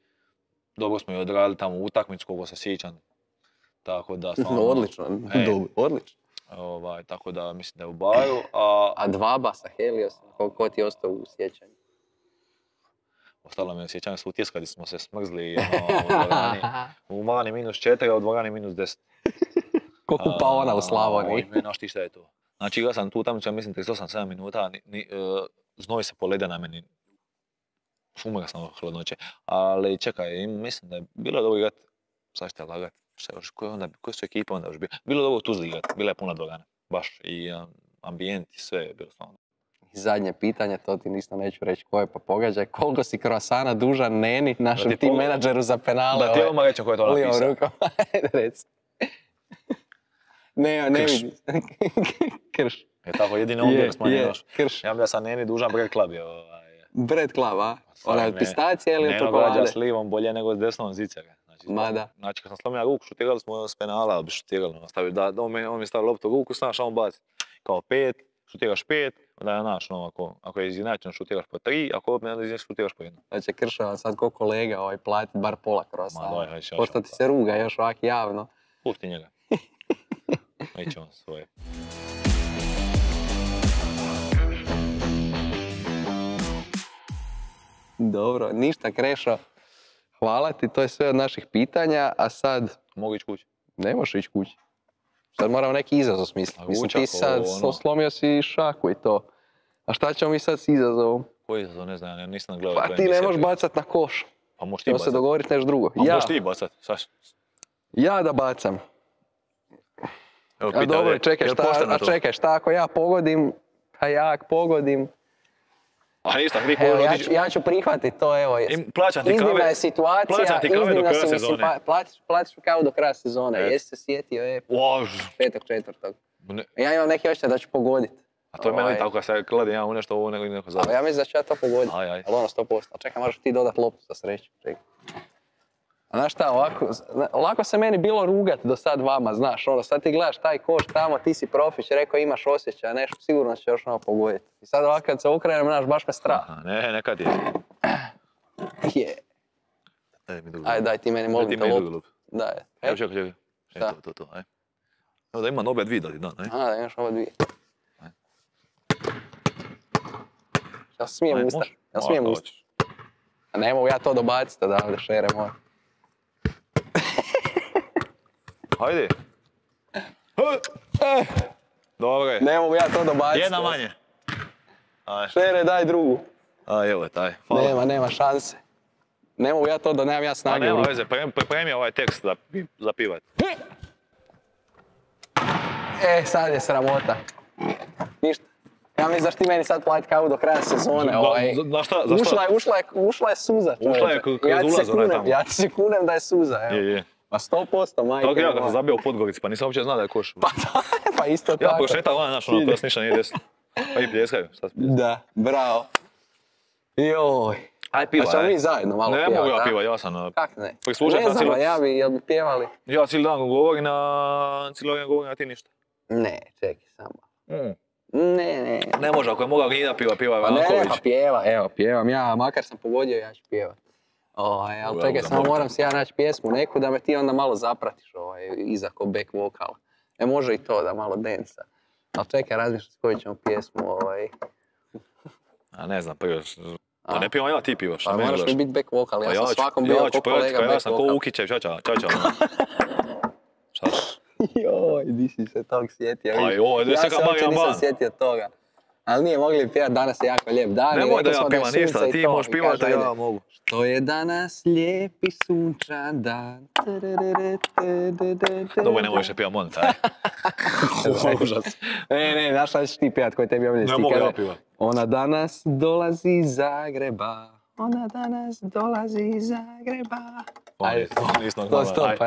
Dobro smo i odradili tamo utakmicu koliko se sjećam. Tako da stvarno...
Odlično, odlično.
Tako da mislim da je u Baru.
A 2 sa Heliosom, ko ti je ostao u sjećanju?
Ostalo mi je sjećanje su utiskali smo se smrzli u dvorani -4, a u dvorani -10.
Ko kupaona u Slavoniji.
Znaš ti šta je to? Znači igrao sam tu utakmicu, ja mislim 38-7 minuta, znoj se polede na meni. Umrao sam od hladnoće. Ali čekaj, mislim da je bilo dobro igrat, sad ćete lagat, koje su ekipe onda još bilo? Bilo dobro u Tuzli igrat, bila je puna dvorana, baš, i ambijent i sve je bilo stvarno.
I zadnje pitanje, to ti ništa neću reći koje, pa pogađaj, koliko si kroasana dužan Neni, našem tim menadžeru za penale?
Da ti odmah rećem ko je to napisao.
Ajde, reci. Ne vidi. Krš.
Je tako, jedini on bio smanjen još.
Krš.
Ja bi sam Neni dužan Bread Club je.
Bread Club, a? Ona je od pistacije ili od
čokolade?
čokolade?
S livom bolje nego s desnom zicere. Znači kad sam slomio ruku, šutirali smo s penala, ali bi šutirali. On mi stavio loptu u ruku, znaš, a on baci. Kao 5, šutiraš 5, onda je naš, ako je izjednačeno šutiraš po 3, ako opet ne šutiraš po 1.
Znači Kršava sad ko kolega platit bar pola kroasana. Pošto ti se ruga još ovak javno.
Pusti njega. Neće on svoje.
Dobro, ništa Krešo. Hvala ti, to je sve od naših pitanja, a sad...
Mogu ići kući?
Ne možeš ići kući. Sad moramo neki izazov smisliti. Mislim, ti sad slomio si šaku i to. A šta ćemo mi sad s izazovom?
Koji izazov, ne znam, ja nisam gledao.
Pa ti ne možeš bacat na koš.
Pa možeš ti bacat.
Ćemo se dogovoriti nešto drugo.
A možeš ti bacat, Saš?
Ja da bacam.
Evo,
a dobro, čekaj, šta ako ja pogodim, a ja ako pogodim...
A ništa,
ja ću prihvatiti to, evo. Iznimna je situacija, iznimna si, mislim, platiš mi kavu do kraja sezone. Jesi se sjetio, 5.4. Ja imam neki očaj da ću pogoditi.
A to je meni tako, kad se kladim ja u nešto ovo, nego neko završi.
Ali ja mislim da ću ja to pogoditi. Ali ono 100%. A čekaj, možeš ti dodat loptu za sreću. A znaš šta, lako se meni bilo rugat do sad vama, znaš, sad ti gledaš taj koš tamo, ti si profić, rekao imaš osjećaj, nešto, sigurno će još ono pogoditi. I sad ovako kad se okrenem, znaš, baš me strah.
Nekad je.
Je. Ajde, daj ti meni, molim te loptu. Daj.
Evo, čekaj. To, aj. Evo da imam obe dvije da ti dan, aj.
Da imaš obe dvije. Ja smijem ustati. Ne mogu ja to dobaciti odavde, šere moj.
Hajde. Dobro je.
Ne mogu ja to dobaciti.
Jedna manje.
Šere, daj drugu.
Evo je taj.
Nema šanse. Ne mogu ja to da nemam ja snage.
Nema veze, pripremi ovaj tekst za pivat.
Sad je sramota. Ništa. Ja mislim da ti meni sad platit kavu do kraja sezone. Ušla je suza.
Ušla je kroz ulaz onaj tamo.
Ja ti se kunem da je suza.
Je.
Pa 100%, majke.
Tako ja kad sam zabio u Podgorici, pa nisam uopće znao da je koš.
Pa isto tako.
Ja prošetao onaj naš, ono kroz ništa nije desno. Pa i pljeskaju.
Da, bravo. Joj.
Aj piva,
pa ćemo mi zajedno malo pjevati.
Ne mogu ja piva, ja sam...
Kak ne?
Ne
znam, jel bi pjevali?
Ja cijeli dan govorim, a ti ništa.
Ne, čekaj samo. Ne.
Ne može, ako je mogao Gnjina piva Ivanković.
Ne, pa pjevam ja, makar sam pogodio, ja ću pjevat. Ali čekaj, samo moram si ja naći pjesmu neku da me ti onda malo zapratiš iza ko back vokala. Može i to da malo densa. Ali čekaj, razmišljam s koju ćemo pjesmu
A ne znam, pivaš. Pa ne pivam ja, ti pivaš.
Pa moraš mi biti back vokal, ja sam svakom bio ko kolega back vokal.
Ja sam ko Ukićev, čača. Šta?
Joj, di si se tog sjetio.
Ja se uopće
nisam sjetio toga. Ali nije mogli pjevati, danas je jako lijep dan.
Nemoj da ja pivam ništa, ti možeš pivati, a ja mogu.
Što je danas lijep i sunčan dan.
Dobro, ne možeš pivati Monta, Užas.
Ne, znaš šta ćeš ti pjevati koji tebi ovdje
stikare? Ne mogu ja pivati.
Ona danas dolazi iz Zagreba. Ona danas dolazi iz Zagreba.
Ajde,
to stop.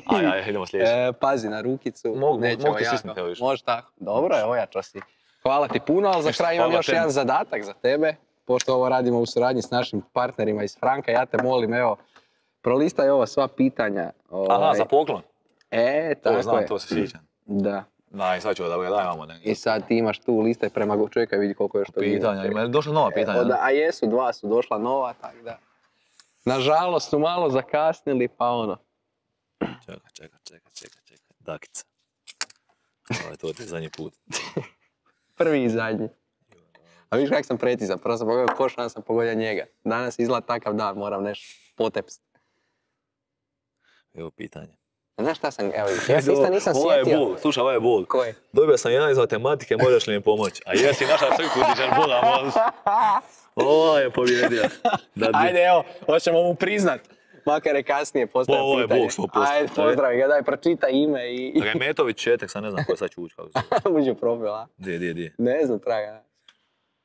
Ajde, idemo sljedeći.
Pazi na rukicu.
Mogu ti stisnuti, evo viš.
Može tako. Dobro je, ojačo si. Hvala ti puno, ali za kraj imam još jedan zadatak za tebe. Pošto ovo radimo u suradnji s našim partnerima iz Franka, ja te molim, evo, prolistaj ova sva pitanja.
Aha, za poklon?
Tako je.
Znam, to se sjećam.
Da.
Daj, sad ću da ga daj vamo.
I sad ti imaš tu listaj prema čovjeka, vidi koliko još to
pitanja. Ima došla nova pitanja?
A jesu, 2 su došla nova, tako da. Nažalost su malo zakasnili, pa ono.
Čekaj. Dakica. To je zadnji put.
Prvi i zadnji. A vidiš kak sam precizan, prvo sam pogodio koš, onda sam pogodio njega. Danas izgleda takav dan, moram nešto potepsti.
Evo pitanje.
Znaš šta sam, evo, ja se isto nisam
Ovo je
sjetio.
bol, slušaj, ovo je bol.
Koji?
Dobio sam jedan iz matematike, možeš li mi pomoći? A jesi naša crku, dižeš Boga, možeš. Ovo je pobjedio.
Ajde, evo, hoćemo mu priznat. Makar je kasnije postavio
Ovo je
pitanje.
Bog 100%.
Ajde, pozdravi ga, daj, pročita ime i
Remetović Četek, sad ne znam ko je sad Čuč, kako se
uđi u profil, a?
Di.
Ne znam, traga.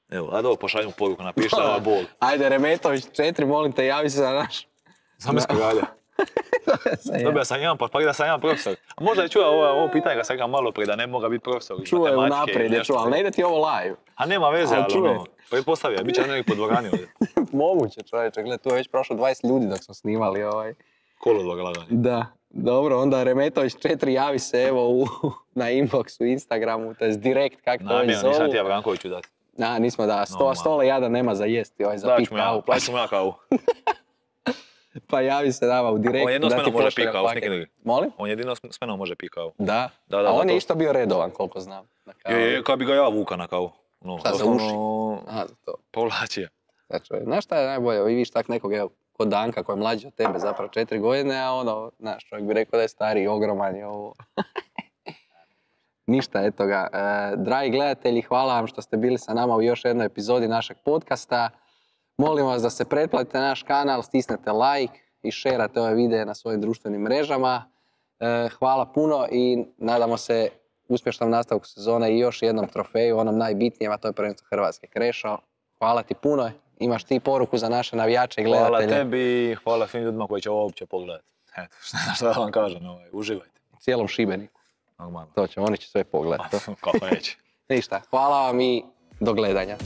Evo, ajde ovo pošaljemo poruku, napiši da ovo je bol.
Ajde, Remetović 4, molim te, javi se za naš.
Zamisli galja. Dobio sam jedan, pa da sam jedan profesor. A možda je čuo ovo pitanje ga sam rekao malo prije, da ne moga biti profesor iz
Čuo je
matematike
unaprijed,
ili
je
nešto.
čuo, ali ne ide ti ovo live.
A nema veze,
A,
ali
čuo je.
ono, pretpostavio, bit će neki po dvorani ovdje.
Moguće, čovječe, gledaj, tu je već prošlo 20 ljudi dok smo snimali ovaj.
Kolodvor laganje.
Da, dobro, onda Remetović 4, javi se evo na inboxu, Instagramu, to je direkt, kak to već
Namjerno, nisam
zovu.
ti ja Brankoviću dati.
Nismo da,
Normalno.
stole jada nema za jesti, ovaj, za pit kavu.
Plaću ću mu ja kavu.
Pa javi se nama u direkt.
On jedno s
da ti
menom može
pošalje
pit kavu, s
paket.
nekim drugim.
Molim?
On jedino s menom može pit kavu.
Da.
Da,
A on
zato.
je isto bio redovan, koliko znam. Na kavu.
Kad bi ga ja vuka na kavu. No,
Šta, za
doslovno
uši? Aha, za to.
Povlači je.
Znači, znaš šta je najbolje? Vi vidiš tak nekog, evo, kod Danka koji je mlađi od tebe, zapravo 4 godine, a ono, znaš, čovjek bi rekao da je stariji, ogroman je ovo. Ništa, eto ga. Dragi gledatelji, hvala vam što ste bili sa nama u još jednoj epizodi našeg podcasta. Molim vas da se pretplatite na naš kanal, stisnete like i šerate ove videe na svojim društvenim mrežama. Hvala puno i nadamo se uspješnom nastavku sezone i još jednom trofeju, onom najbitnijem, a to je prvenstvo Hrvatske. Krešo, hvala ti puno. Imaš ti poruku za naše navijače i gledatelje?
Hvala tebi i hvala svim ljudima koji će ovo uopće pogledati. Eto, šta da vam kažem, uživajte.
Cijelom Šibeniku.
Normalno.
To će, oni će sve pogledati.
Kako neće.
Ništa, hvala vam i do gledanja.